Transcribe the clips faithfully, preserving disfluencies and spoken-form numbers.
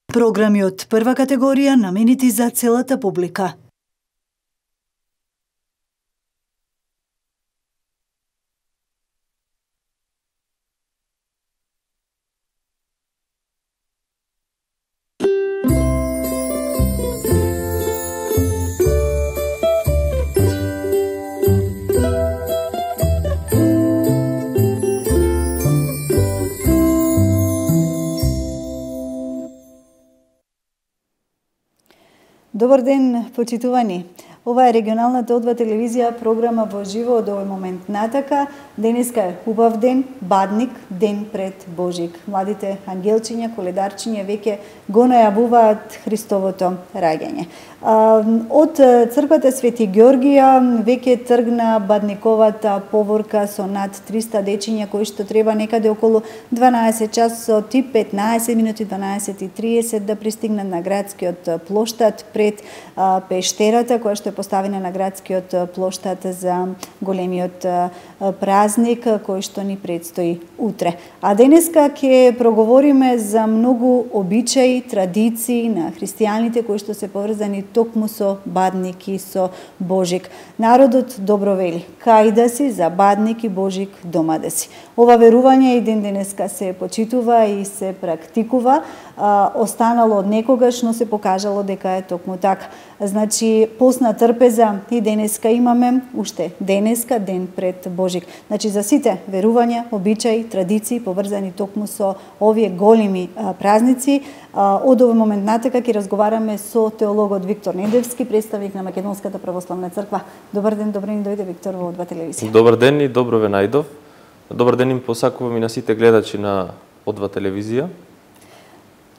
Програми од прва категорија наменети за целата публика. Добар ден, почитувани. Ова е регионалната О два телевизија програма во живо од овој момент натака. Денеска е убав ден, Бадник, ден пред Божик. Младите ангелчиња, коледарчиња веќе го најавуваат Христовото раѓање. Од црквата Свети Ѓоргија веќе тргна Бадниковата поворка со над триста дечиња кои што треба некаде околу дванаесет часот и петнаесет минути, дванаесет и триесет да пристигнат на градскиот плоштад пред пештерата која што е поставена на градскиот плоштад за големиот празник кој што ни предстои утре. А денеска ќе проговориме за многу обичаи, традиции на христијаните кои што се поврзани токму со Бадник и со Божик. Народот добро вели: кај да си за Бадник и Божик дома да си. Ова верување и ден денеска се почитува и се практикува, а, останало од некогаш, но се покажало дека е токму така. Значи, постна трпеза и денеска имаме, уште денеска, ден пред Божик. Значи, за сите верувања, обичаи, традиции, поврзани токму со овие големи а, празници, а, од овој момент натака ќе разговараме со теологот Виктор Недевски, представник на Македонската православна црква. Добар ден, добро ни дојде, Виктор, во О два телевизија. Добар ден и добро ве најдов. Добар ден им посакувам и на сите гледачи на О два телевизија.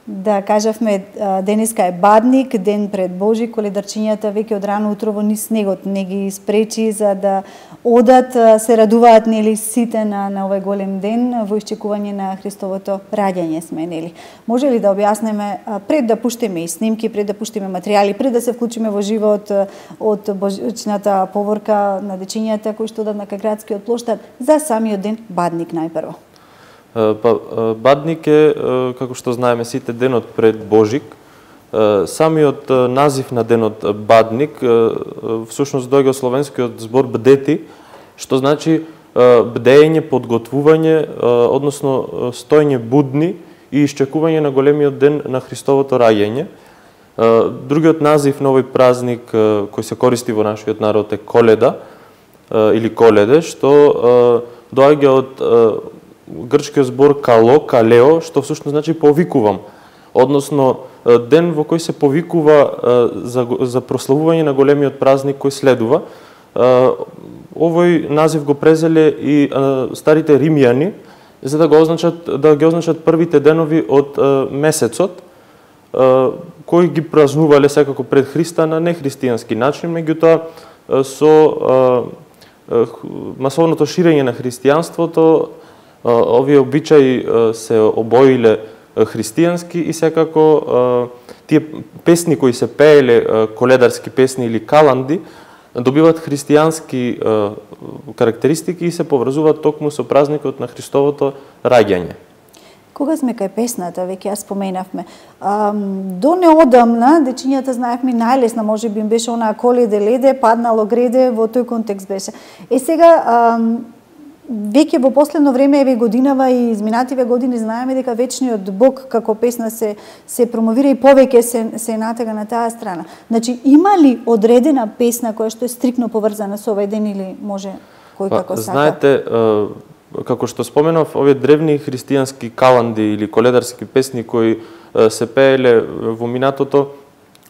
Да, кажавме, денеска е Бадник, ден пред Божик, коледарчињата веќе од рано утро во низ снегот не ги спречи за да одат, се радуваат нели сите на на овој голем ден во исчекување на Христовото раѓање сме нели. Може ли да објаснеме пред да пуштиме и снимки, пред да пуштиме материјали, пред да се вклучиме во живот од божичната поворка на дечињата кои што одат на градскиот плоштад за самиот ден Бадник најпрво? Па, Бадник е, како што знаеме сите, денот пред Божик. Самиот назив на денот Бадник всушност доаѓа од словенскиот збор бдети, што значи бдење, подготвување, односно стоење будни и исчекување на големиот ден на Христовото раѓање. Другиот назив на овој празник кој се користи во нашиот народ е Коледа или Коледе, што доаѓа од грчкиот збор кало, калео, што всушност значи повикувам, односно ден во кој се повикува за, за прославување на големиот празник кој следува. Овој назив го презеле и старите римјани за да го означат, да ги означат првите денови од месецот, кои ги празнувале секако пред Христа на нехристијански начин, меѓутоа со масовното ширење на христијанството овие обичаи се обоиле христијански и секако тие песни кои се пееле, коледарски песни или каланди, добиваат христијански карактеристики и се поврзуваат токму со празникот на Христовото раѓање. Кога сме кај песната, веќе ја споменавме, до неодамна дечињата знаевме најлесна, може би им беше онаа коледе леде, паднало греде, во тој контекст беше. Е сега веќе во последно време, еве годинава и изминативе години, знаеме дека вечниот Бог како песна се се промовира и повеќе се се натега на таа страна. Значи, има ли одредена песна која што е стрикно поврзана со овој ден или може кој па, како сака? Знаете, како што споменав, овие древни христијански каланди или коледарски песни кои се пееле во минатото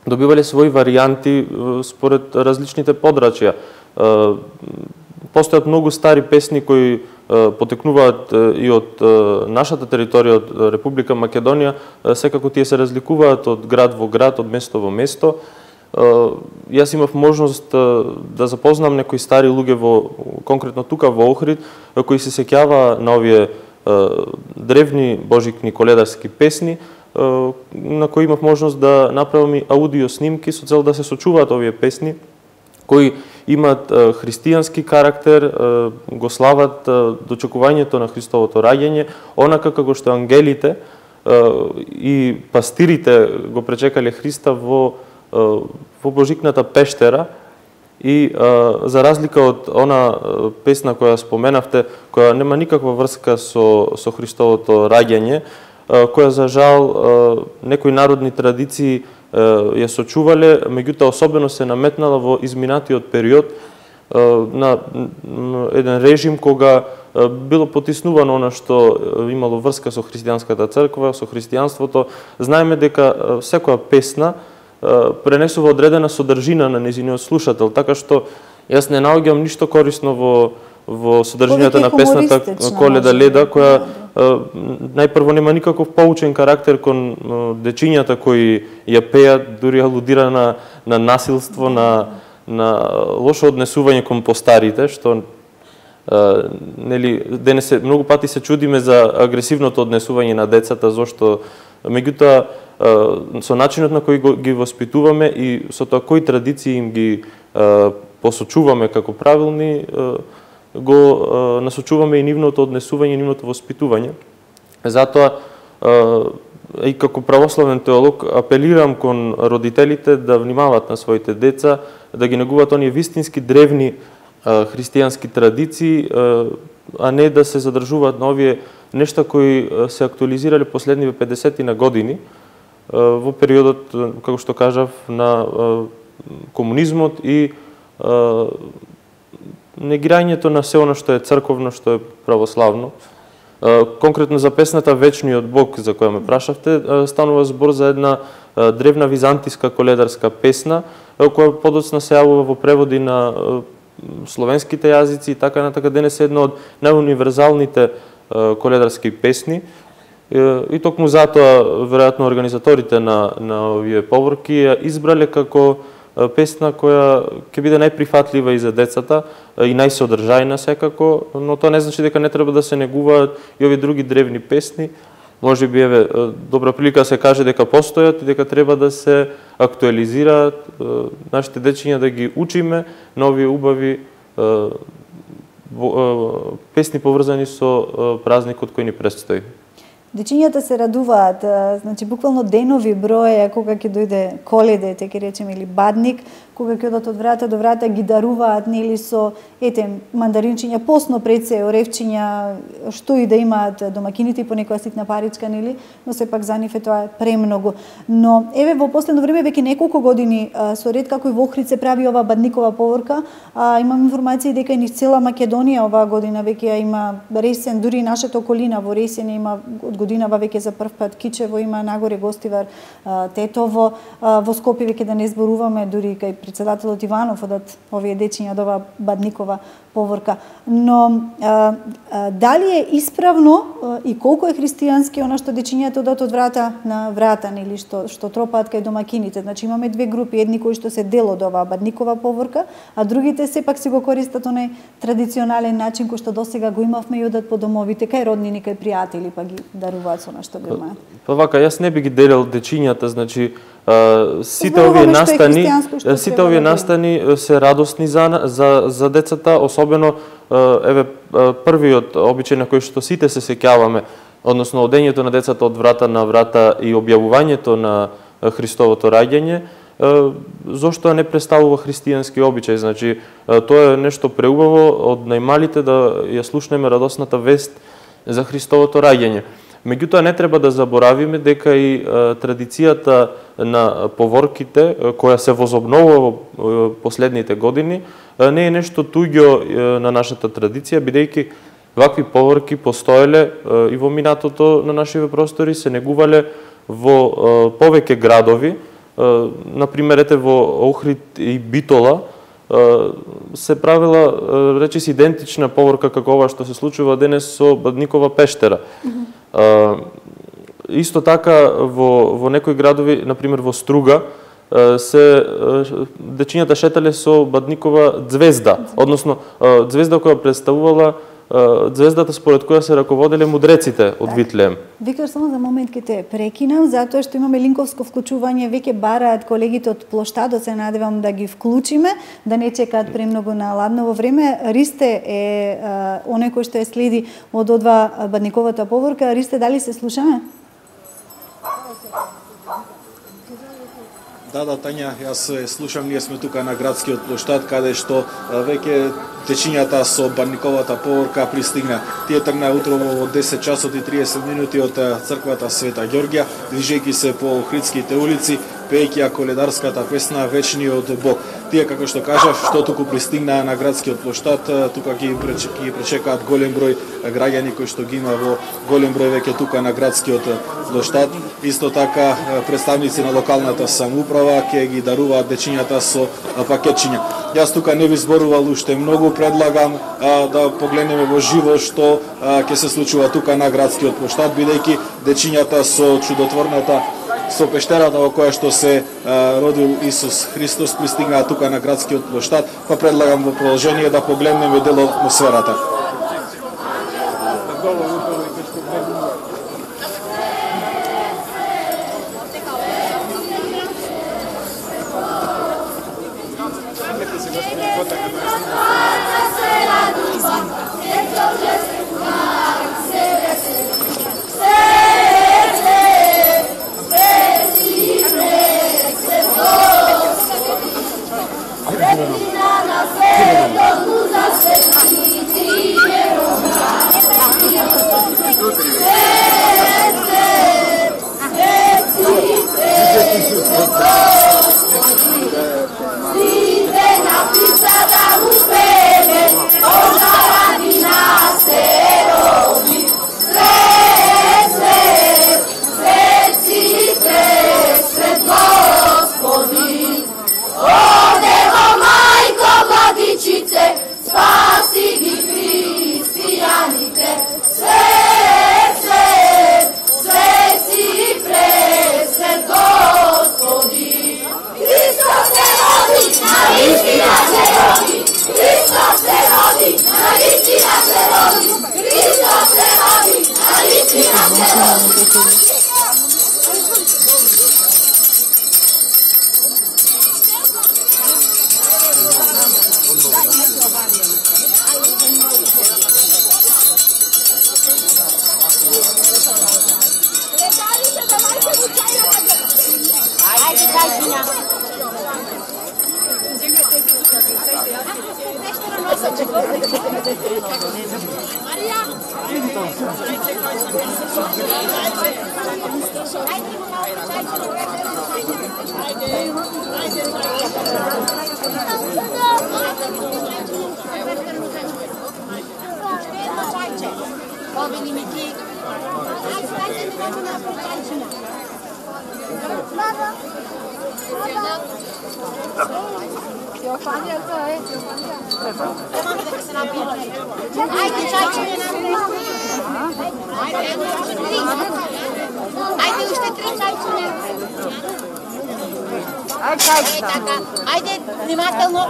добивале своји варијанти според различните подрачја. Постојат многу стари песни кои потекнуваат и од нашата територија, од Република Македонија, секако тие се разликуваат од град во град, од место во место. Јас имав можност да запознам некои стари луѓе во конкретно тука во Охрид кои се сеќава на овие древни божикни коледарски песни, на кои имав можност да направам и аудио снимки со цел да се сочуваат овие песни кои имаат христијански карактер, го слават дочекувањето на Христовото раѓање, онака како што ангелите и пастирите го пречекале Христа во во Божикната пештера и за разлика од она песна која споменавте, која нема никаква врска со со Христовото раѓање, која за жал некои народни традиции ја сочувале, меѓутоа особено се наметнала во изминатиот период на еден режим кога било потиснувано она што имало врска со христијанската црква, со христијанството. Знаеме дека секоја песна пренесува одредена содржина на нејзиниот слушател, така што јас не наоѓам ништо корисно во во содржината на песната Коледа леда, која најпрво нема никаков поучен карактер кон дечињата кои ја пеат, дури алудира на на насилство, на на лошо однесување кон постарите, што Uh, нели денес многу пати се чудиме за агресивното однесување на децата, зошто меѓутоа uh, со начинот на кој го, ги воспитуваме и со тоа кои традиции им ги uh, посочуваме како правилни, uh, го uh, насочуваме и нивното однесување, нивното воспитување. Затоа uh, и како православен теолог апелирам кон родителите да внимаваат на своите деца, да ги негуваат оние вистински древни христијански традиции, а не да се задржуваат на овие нешта кои се актуализирале последниве педесет на години во периодот, како што кажав, на комунизмот и негирањето на се оно што е црковно, што е православно. Конкретно за песната Вечниот Бог, за која ме прашавте, станува збор за една древна византиска коледарска песна, која подоцна се јавува во преводи на словенските јазици и така натака. Денес е една од најуниверзалните коледарски песни и токму затоа веројатно организаторите на на овие поворки ја избрале како песна која ќе биде најприфатлива и за децата и најсодржајна секако, но тоа не значи дека не треба да се негуваат и овие други древни песни. Може би еве добра прилика да се каже дека постојат и дека треба да се актуализираат, нашите дечиња да ги учиме на овие убави песни поврзани со празникот кој ни предстои. Дечињата се радуваат, значи буквално денови броја кога ќе дојде Коледа, те ќе речеме, или Бадник, кога ќе одат од врата до врата, ги даруваат нели со ете мандаринчиња, посно пред се оревчиња, што и да имаат домакините, по некоја ситна паричка, нели, но сепак за нив е тоа премногу. Но еве во последно време веќе неколку години со ред како и во Охрид се прави ова Бадникова поворка, а, имам информации дека и низ цела Македонија оваа година веќе ја има Ресен, дури и нашата околина во Ресен има од годинава веќе за прв пат, Кичево има, нагоре Гостивар, Тетово, во Скопје веќе да не зборуваме, дури кај председателот Иванов одат овие дечиња од оваа Бадникова поворка. Но а, а, дали е исправно а, и колку е христијански она што дечињата одат од врата на врата, нели што што тропаат кај домакините? Значи имаме две групи, едни кои што се дел од оваа Бадникова поворка, а другите сепак си го користат онај традиционален начин кој што досега го имавме и одат по домовите кај роднини, кај пријатели, па ги даруваат со нешто го имаат. Па вака, јас не би ги делел дечињата, значи Uh, сите овие настани, сите овие настани се радосни за за за децата, особено uh, еве uh, првиот обичај на кој што сите се сеќаваме, односно одењето на децата од врата на врата и објавувањето на Христовото раѓање, uh, зошто не представува христијански обичај, значи uh, тоа е нешто преубаво од најмалите да ја слушнеме радосната вест за Христовото раѓање. Меѓутоа не треба да заборавиме дека и а, традицијата на поворките, а, која се возобновува во последните години, а, не е нешто туѓо на нашата традиција, бидејќи вакви поворки постоеле а, и во минатото на нашите простори, се негувале во а, повеќе градови, а, например ете во Охрид и Битола, а, се правила речиси идентична поворка како ова што се случува денес со Бадникова пештера. Uh, исто така во во некои градови, например во Струга, uh, се uh, дечињата шетале со Бадникова ѕвезда, односно uh, ѕвезда која представувала uh, ѕвездата според која се раководеле мудреците од Витлеем. Виктор, само за момент ке те прекинам, затоа што имаме линковско вклучување, веќе бараат колегите од плоштадот, се надевам да ги вклучиме, да не чекаат премногу на ладново време. Ристе е а, оној кој што е следи од одва Бадниковата поворка. Ристе, дали се слушаме? Да, да, Тања, јас слушам, ние сме тука на градскиот плоштад, каде што веќе течињата со Бадниковата поворка пристигна. Тие тргна утрово во десет часот и триесет минути од црквата Света Ѓорѓа, движејќи се по Охридските улици, пеејќи коледарската песна Вечниот Бог. Тие, како што кажав, што туку пристигнаа на градскиот плоштад, тука ги пречекаат голем број граѓани кои што ги има во голем број веќе тука на градскиот плоштад. Исто така представници на локалната самоуправа ќе ги даруваат дечињата со пакетчиња. Јас тука не ви зборувал уште многу, предлагам а, да погледнеме во живо што ќе се случува тука на градскиот плоштад, бидејќи дечињата со чудотворната со пештерата во која што се а, родил Исус Христос пристигнаа тука на градскиот плоштад, па предлагам во продолжение да погледнеме дел од атмосферата. Ајде, внимателно,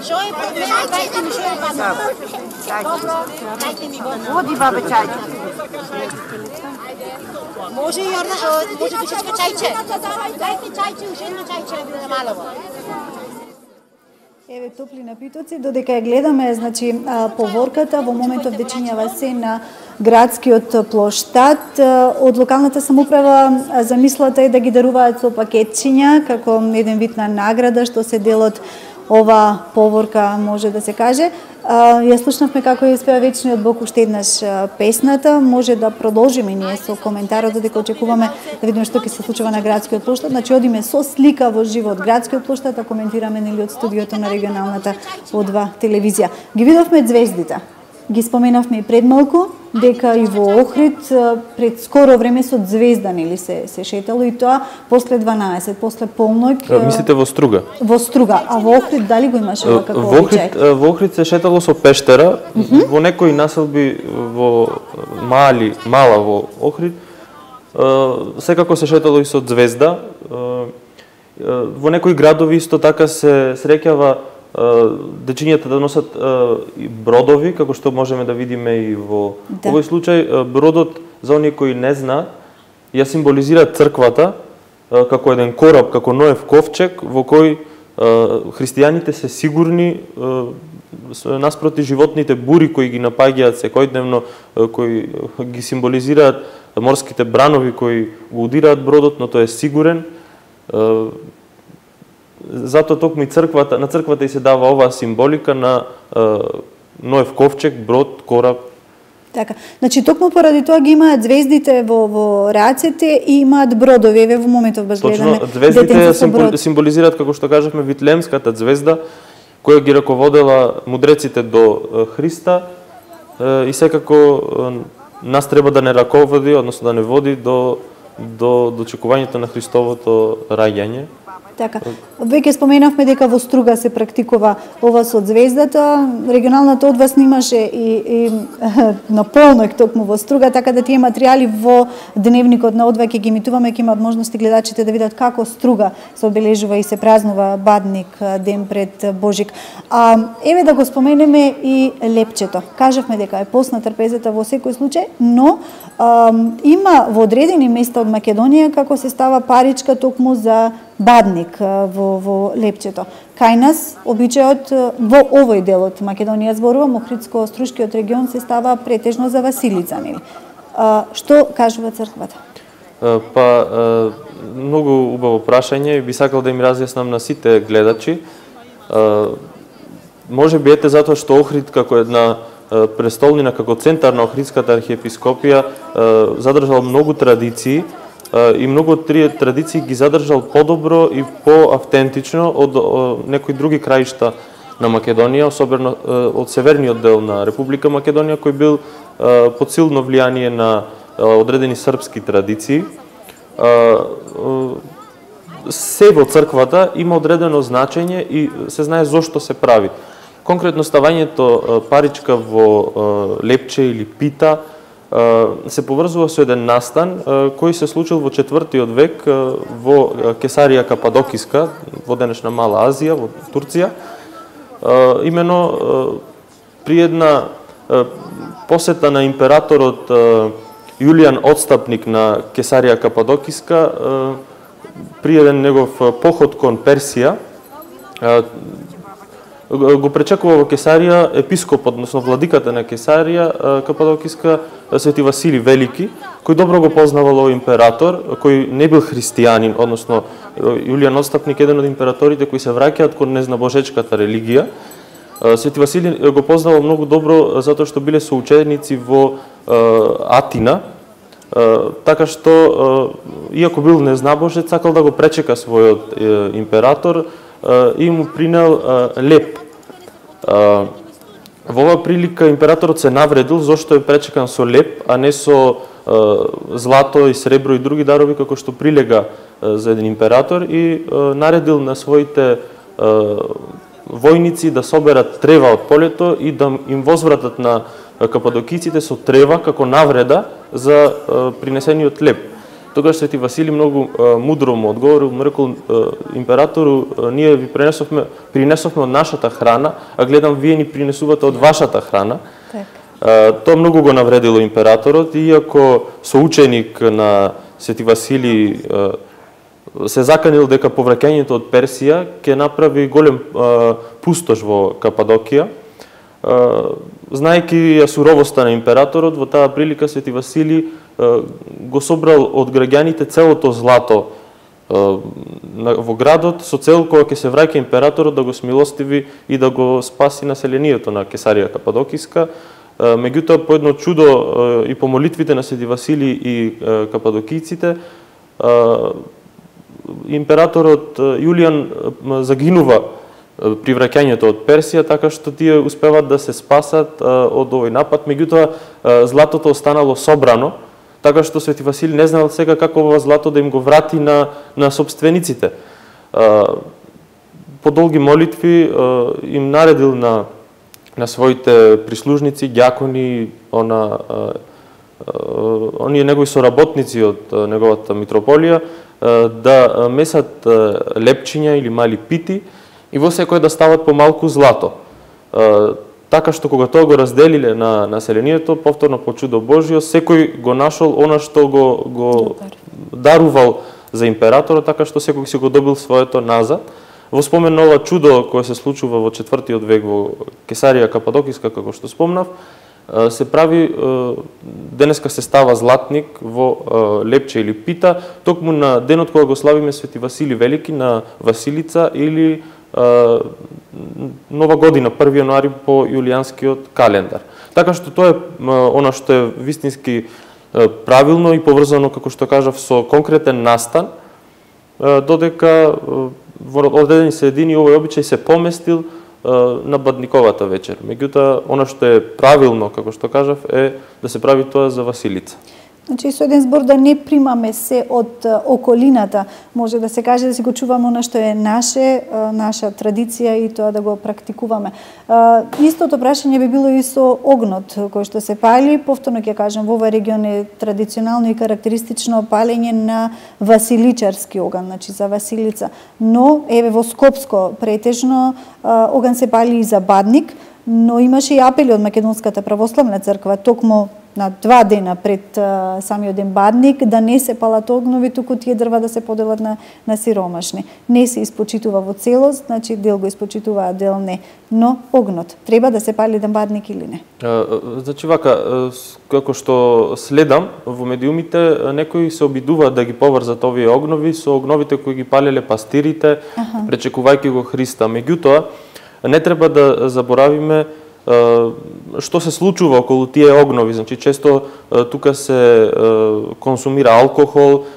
шо е пред мене, дајте ми шо е падна. Добро, дајте ми го. Води, бабе, чајче. Може и Јорна, може душечка чајче. Дајте чајче, уште едно чајче, да биде малово. Еве топли напитоци, додека ја гледаме, значи поворката во моментов дечињава се на градскиот плоштад. Од локалната самоуправа замислата е да ги даруваат со пакетчиња како еден вид на награда што се дел од ова поворка, може да се каже. Ја слушнавме како ја испева Вечниот Бог уште еднаш песната. Може да продолжиме ние со коментарот додека очекуваме да видиме што ќе се случува на градскиот плоштад. Значи одиме со слика во живо од градскиот плоштад, а коментираме нели од студиото на регионалната О два телевизија. Ги видовме звездите. Ги споменавме и пред малку дека и во Охрид пред скоро време со звезда нели се се шетало и тоа после дванаесет, после полноќ. Мислите во Струга? Во Струга, а во Охрид дали го имаше како во Охрид, во Охрид се шетало со пештера, mm -hmm. во некои населби во мали, мала во Охрид, секако се шетало и со звезда. Во некои градови исто така се среќава дечињата да носат бродови, како што можеме да видиме и во да. овој случај. Бродот, за оние кои не знаат, ја символизира црквата како еден кораб, како Ноев ковчег, во кој христијаните се сигурни наспроти животните бури кои ги напаѓаат секојдневно, кои ги символизираат морските бранови кои го удираат бродот, но тој е сигурен. Затоа токму и црквата, на црквата и се дава оваа символика на Ноев ковчег, брод, кораб. Така. Значи токму поради тоа ги имаат звездите во во рацете и имаат бродови. Еве во моментов баш гледаме. Точно, звездите символ, символизираат, како што кажавме, Витлемската звезда која ги раководела мудреците до Христа и секако нас треба да не раководи, односно да не води до до дочекувањето на Христовото раѓање. Така. Веќе споменавме дека во Струга се практикува ова со звездата. Регионалната од вас снимаше и, и на полној токму во Струга, така да тие материјали во дневникот на Одва ќе ги емитуваме, ќе имаат можности гледачите да видат како Струга се обележува и се празнува Бадник ден пред Божик. А еве да го споменеме и лепчето. Кажавме дека е постна трпезата во секој случај, но а, има во одредени места од Македонија како се става паричка токму за Бадник во, во лепчето. Кај нас, обичајот во овој дел од Македонија, зборувам, Охридско-Струшкиот регион се става претежно за Василица, нели? А, што кажува црквата? Па, многу убаво прашање, би сакал да им разјаснам на сите гледачи. Може би ете затоа што Охрид како една престолнина, како центар на Охридската архиепископија, задржал многу традиции, и многу од тие традиции ги задржал подобро и поавтентично од, од некои други краишта на Македонија, особено од северниот дел на Република Македонија, кој бил под силно влијание на одредени српски традиции. Се во црквата има одредено значење и се знае зошто се прави. Конкретно ставањето паричка во лепче или пита се поврзува со еден настан кој се случил во четвртиот век во Кесарија Кападокиска, во денешна Мала Азија, во Турција. Имено при една посета на императорот Јулијан Отстапник на Кесарија Кападокиска, при еден негов поход кон Персија, го пречекува во Кесарија епископот, односно владиката на Кесарија Кападокиска, Свети Васили Велики, кој добро го познавал овој император, кој не бил христијанин, односно Јулијан Отстапник еден од императорите кои се враќаат кон незнабожечката религија. Свети Васили го познавал многу добро затоа што биле соученици во Атина, така што иако бил незнабожец, сакал да го пречека својот император и му принел леп. Во оваа прилика императорот се навредил зашто е пречекан со леп, а не со злато и сребро и други дарови како што прилега за еден император, и наредил на своите војници да соберат трева од полето и да им возвратат на кападокиците со трева како навреда за принесениот леп. Тогаш Свети Васили многу мудро му одговорил, му рекол: императору, ние ви пренесовме, принесовме од нашата храна, а гледам вие ни принесувате од вашата храна. Так. Тоа многу го навредило императорот, иако соученик на Свети Васили се заканил дека повраќањето од Персија ќе направи голем пустош во Кападокија. Знаејќи ја суровоста на императорот, во таа прилика Свети Васили го собрал од граѓаните целото злато во градот со цел кога ќе се враќа императорот да го смилостиви и да го спаси населението на Кесарија Кападокиска. Меѓутоа, по едно чудо и по молитвите на Свети Васили и кападокиците, императорот Јулијан загинува при враќањето од Персија, така што тие успеваат да се спасат од овој напад. Меѓутоа, златото останало собрано, така што Свети Васили не знаел сега како ова злато да им го врати на, на собствениците. По долги молитви им наредил на, на своите прислужници, ѓакони, она, оние негови соработници од неговата митрополија, да месат лепчиња или мали пити и во секој да стават по малку злато. Така што кога тоа го разделиле на населението, повторно по чудо Божјо, секој го нашол она што го, го дарувал за императорот, така што секој си го добил своето назад. Во спомен на ова чудо кое се случува во четвртиот век во Кесарија Кападокиска, како што спомнав, се прави, денеска се става златник во лепче или пита, токму на денот кога го славиме Свети Васили Велики на Василица или Нова година, први јануари по јулијанскиот календар. Така што тоа е она што е вистински правилно и поврзано, како што кажав, со конкретен настан, додека во одредени средини овој обичај се поместил на Бадниковата вечер. Меѓутоа, она што е правилно, како што кажав, е да се прави тоа за Василица. Значи, со еден збор да не примаме се од околината, може да се каже да си го чуваме она што е наше, наша традиција и тоа да го практикуваме. Истото прашање би било и со огнот кој што се пали, повторно ќе кажам, во овој регион е традиционално и карактеристично палење на василичарски оган, значи за Василица. Но еве во Скопско претежно оган се пали и за Бадник, но имаше и апели од Македонската православна црква токму на два дена пред а, самиот ден Бадник да не се палат огнови, туку тие дрва да се поделат на, на сиромашни. Не се испочитува во целост, значи дел го испочитува, а дел не. Но огнот треба да се пали ден Бадник или не? А, значи вака, како што следам во медиумите, некои се обидуваат да ги поврзат овие огнови со огновите кои ги палеле пастирите, аха, пречекувајќи го Христа. Меѓутоа, не треба да заборавиме што се случува околу тие огнови. Значи, често тука се консумира алкохол,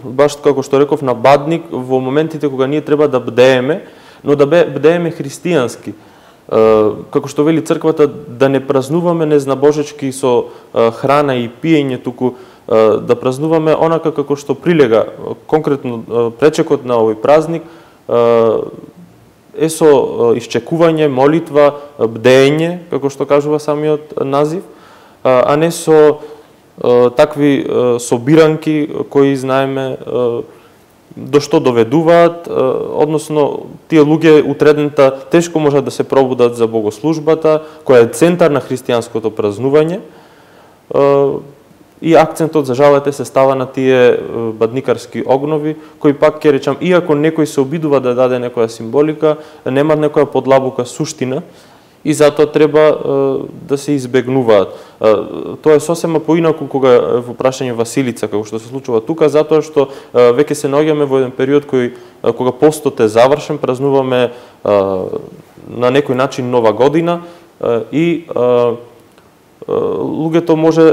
баш како што реков на Бадник, во моментите кога ние треба да бдееме, но да бдееме христијански. Како што вели црквата, да не празнуваме незнабожечки со храна и пиење, туку да празнуваме онака како што прилега. Конкретно пречекот на овој празник е со исчекување, молитва, бдење, како што кажува самиот назив, а не со такви собиранки кои знаеме до што доведуваат, односно тие луѓе утредента тешко можат да се пробудат за богослужбата, која е центар на христијанското празнување, и акцентот, за жалете, се става на тие бадникарски огнови, кои пак ќе речам, иако некој се обидува да даде некоја символика, немаат некоја подлабока суштина и затоа треба да се избегнуваат. Тоа е сосема поинаку кога во прашање Василица, како што се случува тука, затоа што веќе се наоѓаме во еден период кој кога постот е завршен, празнуваме на некој начин нова година и луѓето може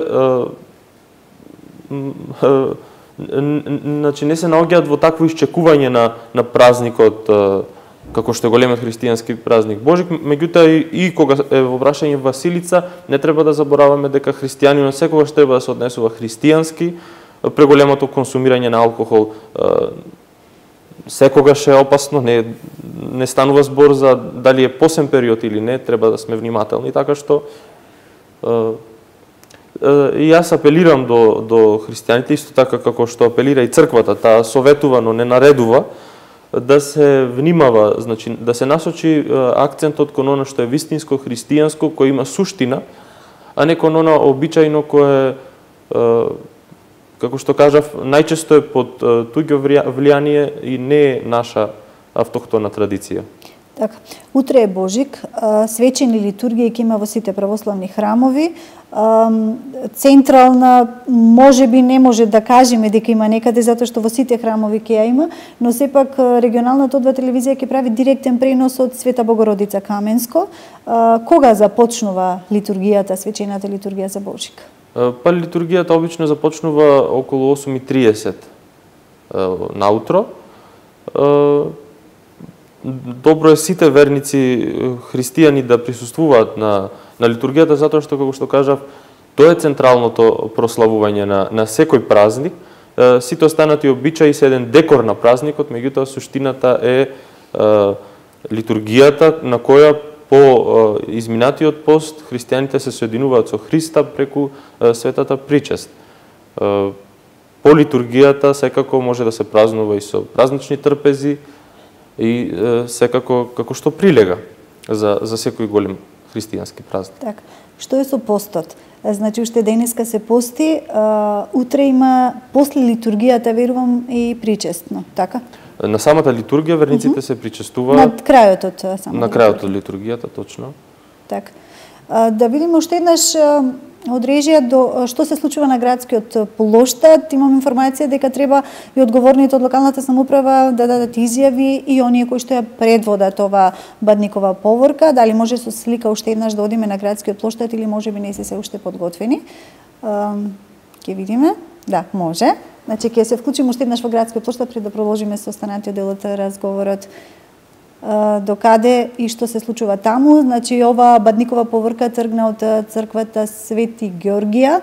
значи не се наоѓаат во такво исчекување на на празникот како што е големиот христијански празник Божик, меѓутоа и, и кога е во прашање Василица, не треба да забораваме дека христијанинот секогаш треба да се однесува христијански, преголемото консумирање на алкохол секогаш е опасно, не не станува збор за дали е посен период или не, треба да сме внимателни, така што и јас апелирам до, до христијаните, исто така како што апелира и црквата, таа советува, но не наредува, да се внимава, значи да се насочи акцентот кон оно што е вистинско христијанско, кој има суштина, а не кон оно обичајно кое, како што кажав, најчесто е под туѓо влијание и не е наша автохтона традиција. Така, утре е Божик, свечени литургија ќе има во сите православни храмови. Централна, може би не може да кажеме дека има некаде, затоа што во сите храмови ќе ја има, но сепак регионалната О два телевизија ќе прави директен пренос од Света Богородица Каменско. Кога започнува литургијата, свечената литургија за Божик? Па литургијата обично започнува околу осум и триесет наутро. Добро е сите верници христијани да присуствуваат на на литургијата, затоа што, како што кажав, тоа е централното прославување на на секој празник. Сите останати обичаи се еден декор на празникот, меѓутоа суштината е, е литургијата на која по е, изминатиот пост христијаните се соединуваат со Христа преку е, светата причест. Е, по литургијата секако може да се празнува и со празнични трпези, и е, секако како што прилега за за секој голем христијански празник. Така. Што е со постот? Значи уште денеска се пости, а, утре има после литургијата, верувам, и причестно, така? На самата литургија верниците uh -huh. се причестуваат на крајот од самата на крајот од литургијата, точно. Така. Да видиме уште еднаш од режија до што се случува на градскиот плоштад. Имам информација дека треба и одговорните од локалната самоуправа да дадат изјави и оние кои што ја предводат ова Бадникова поворка. Дали може со слика уште еднаш да одиме на градскиот плоштад или можеби не се се уште подготвени. Ќе видиме. Да, може. Значи ќе се вклучиме уште еднаш во градскиот плоштад пред да продолжиме со останатиот дел од разговорот. До каде и што се случува таму. Значи, ова Бадникова поворка тргна од црквата Свети Георгија.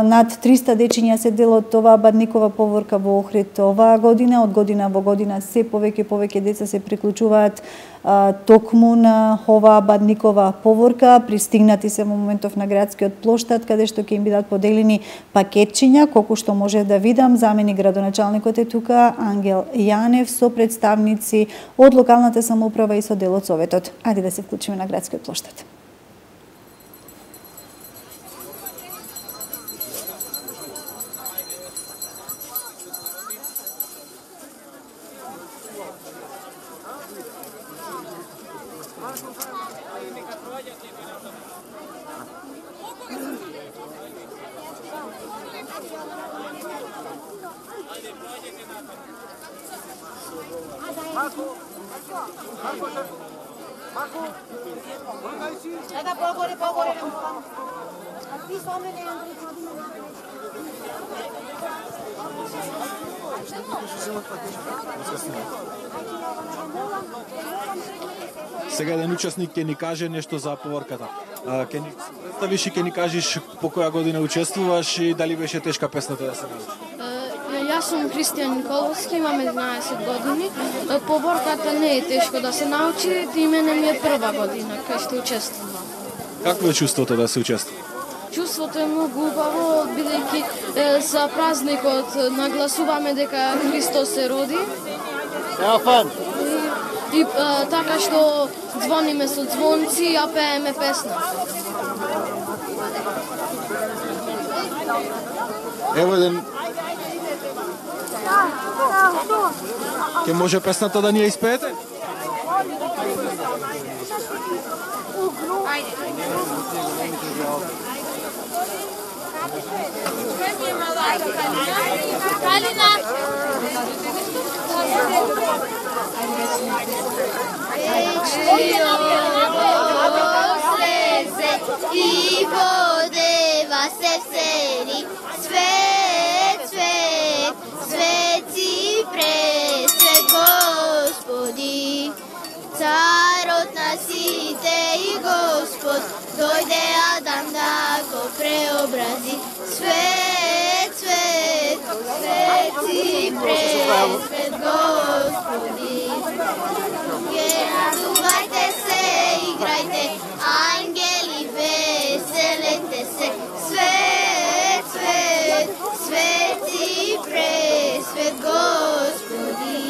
Над триста дечиња се дел од оваа Бадникова поворка во Охрид оваа година. Од година во година се повеќе повеќе деца се приклучуваат токму на оваа Бадникова поворка. Пристигнати се во моментов на градскиот плоштад, каде што ќе им бидат поделени пакетчиња, колку што може да видам. Заменик градоначалникот е тука, Ангел Јанев, со представници од локалната самоуправа и со дел од Советот. Ајде да се вклучиме на градскиот плоштад. Сега еден учесник ќе ни каже нешто за поворката. Ќе ни представиш и ќе ни кажеш по која година учествуваш и дали беше тешка песната да се научи? Јас сум Кристијан Николовски, имам еднаесет години. Поворката не е тешко да се научи, и мене ми е прва година кај што учествувам. Какво е чувството да се учествува? Чувството е многу убаво, бидејќи за празникот нагласуваме дека Христос се роди. И, и а, така што звониме со звонци и ја пееме песна. Ево еден... Ке може песната да ни ја испеете? Калина! Слезе и водева се всери, свет, свет, свети пресвет Господи, царот на сите и Господ, дојде Адам да го преобрази, свет, свет, свети пресвет Господи. Радувајте се, играјте, ангели, веселете се, свет, свет, свети пресвет Господи.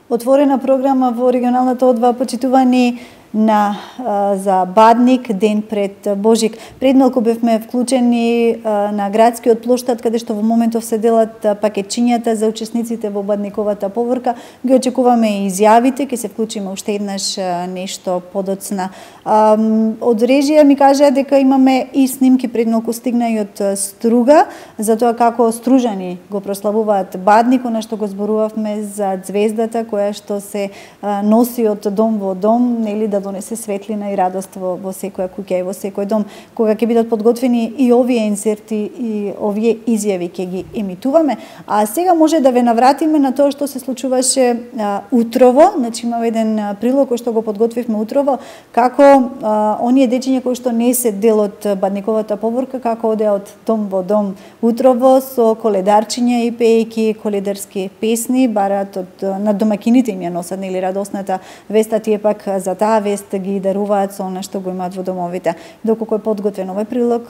Отворена програма во регионалната одва, почитувани на а, за Бадник, ден пред Божик. Пред малку бевме вклучени а, на градскиот плоштад, каде што во моментов се делат пакетчињата за учесниците во Бадниковата поворка. Ги очекуваме и изјавите, ќе се вклучиме уште еднаш а, нешто подоцна. А, од режија ми кажа дека имаме и снимки, пред малку стигна и од Струга, за тоа како стружани го прославуваат Бадник, она што го зборувавме за звездата која што се а, носи од дом во дом, нели, да донесе светлина и радост во, во секоја куќа и во секој дом. Кога ќе бидат подготвени и овие инсерти и овие изјави ќе ги емитуваме. А сега може да ве навратиме на тоа што се случуваше а, утрово. Значи има еден прилог кој што го подготвивме утрово, како а, оние дечиња кои што не се дел од Бадниковата поворка, како одеа од дом во дом утрово со коледарчиња и пеејќи коледарски песни, бараат од на домакините им ја носат, нели, радосната веста, тие пак за таа вест ги даруваат со она што го имаат во домовите. Доколку е подготвен овој прилог,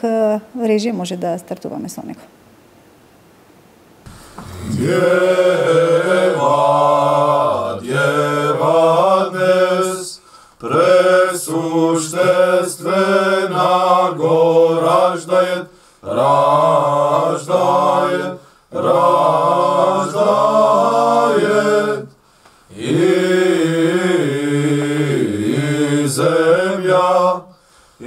режија може да стартуваме со него. Дева, дева раждае, раждае и земја, и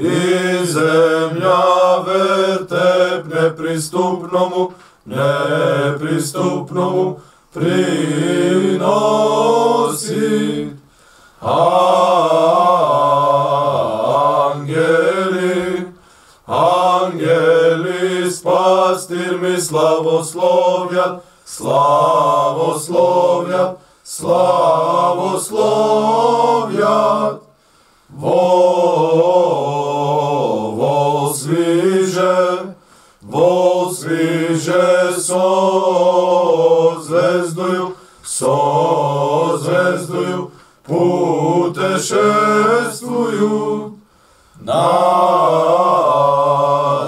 земја вертеп неприступному, неприступному приноси. Ангели, ангели, спастир ми славословјат, славословјат, славословјат. Во, возвиже, возвиже со звездою, со звездою, путешествују на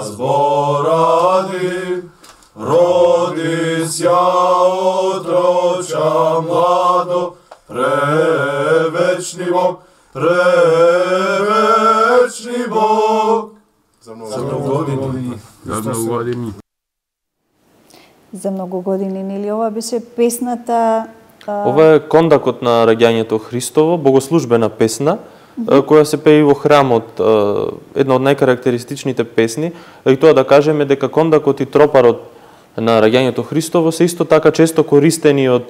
зборади, родись ја отроча младо, превечни Бог, превечни Бог. За многу години. За многу години. За многу години, нели ова беше песната? Ова е кондакот на раѓањето Христово, богослужбена песна, mm-hmm. која се пее во храмот, една од најкарактеристичните песни, и тоа да кажеме дека кондакот и тропарот на раѓањето Христово се исто така често користени од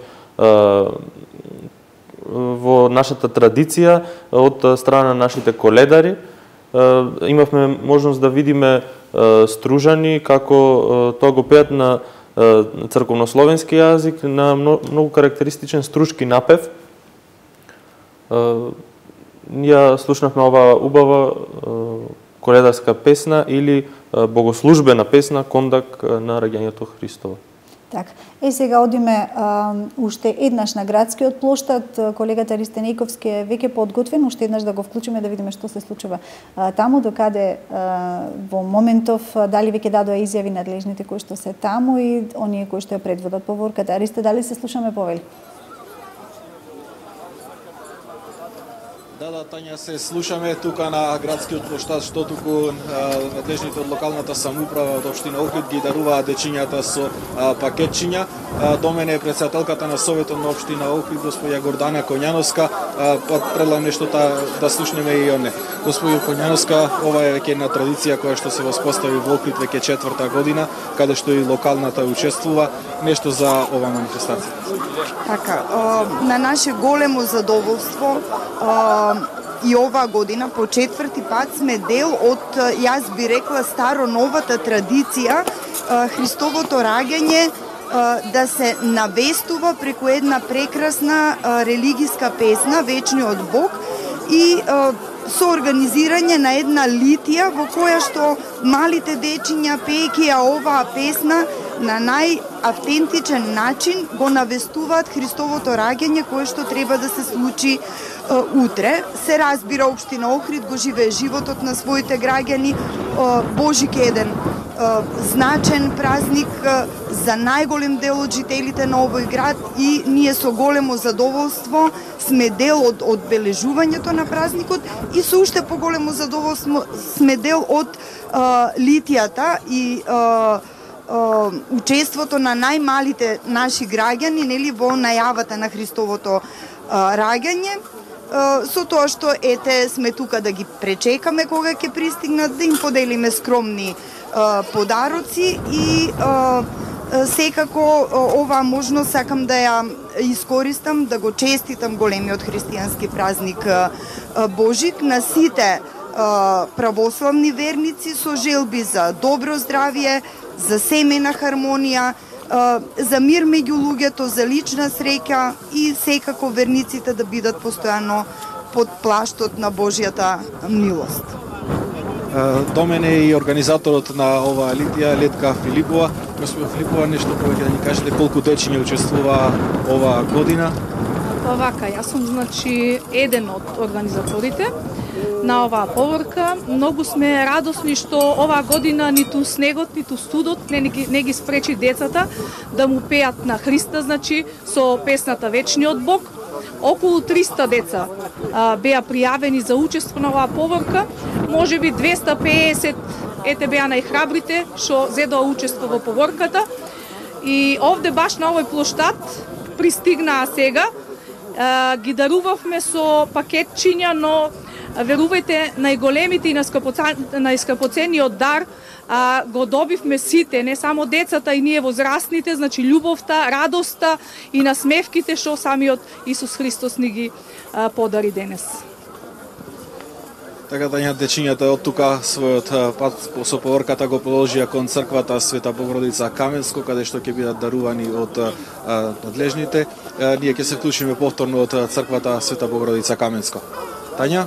во нашата традиција од страна на нашите коледари. Имавме можност да видиме стружани како тоа го пеат на црковнословенски јазик, на многу карактеристичен струшки напев. Ја слушнавме оваа убава коледарска песна или богослужбена песна, кондак на раѓањето Христово. Така. Е, сега одиме а, уште еднаш на градскиот плоштад. Колегата Ристенејковски е веќе подготвен, уште еднаш да го вклучиме да видиме што се случува а, таму, докаде а, во моментов дали веќе дадоа изјави надлежните кои што се таму и оние кои што ја предводат поворката. Ристе, дали се слушаме повели? Да, да, Тања, се слушаме тука на градскиот плоштад, што туку надлежните од локалната самоуправа од општина Охрид ги даруваат дечињата со а, пакетчиња. А, до мене е претседателката на Советот на општина Охрид, господја Гордана Коњановска. Предлагам нешто та, да слушнеме и оне. Господја Коњановска, ова е веќе една традиција која што се воспостави во Охрид веќе четврта година, каде што и локалната учествува. Нешто за ова манифестација. Така, на наше големо задоволство, и оваа година по четврти пат сме дел од, јас би рекла, старо-новата традиција Христовото раѓање да се навестува преку една прекрасна религиска песна Вечниот Бог и со организирање на една литија во која што малите дечиња пеејќи ја оваа песна на најавтентичен начин го навестуваат Христовото раѓање кое што треба да се случи е, утре. Се разбира, општина Охрид го живее животот на своите граѓани. Е, Божик е еден е, значен празник е, за најголем дел од жителите на овој град и ние со големо задоволство сме дел од одбележувањето на празникот и со уште поголемо задоволство сме дел од е, литијата и е, учеството на најмалите наши граѓани, нели, во најавата на Христовото а, раѓање, а, со тоа што ете сме тука да ги пречекаме кога ќе пристигнат, да им поделиме скромни а, подароци и а, секако оваа можност сакам да ја искористам, да го честитам големиот христијански празник а, Божик на сите а, православни верници со желби за добро здравје, за семејна хармонија, за мир меѓу луѓето, за лична среќа и секако верниците да бидат постојано под плаштот на Божјата милост. До мене и организаторот на оваа литија, Летка Филипова. Господја Филипова, нешто повеќе да ни кажете колку дечиња учествува оваа година? Па вака, јас сум значи еден од организаторите на оваа поворка. Многу сме радосни што оваа година ниту снегот, ниту студот не, не ги спречи децата да му пеат на Христа, значи со песната Вечниот Бог. Околу триста деца а, беа пријавени за учество на оваа поворка. Можеби двесте и песет ете беа најхрабрите што зедоа учество во поворката. И овде баш на овој плоштад пристигнаа сега. Ги дарувавме со пакетчиња, но верувајте, најголемите и најскапоцениот дар а, го добивме сите, не само децата и ние возрастните, значи љубовта, радоста и насмевките што самиот Исус Христос ни ги а, подари денес. Така Тања, дечињата од тука својот пат со поворката го положија кон црквата Света Богородица Каменско, каде што ќе бидат дарувани од а, надлежните. А, ние ќе се вклучиме повторно од црквата Света Богородица Каменско. Тања?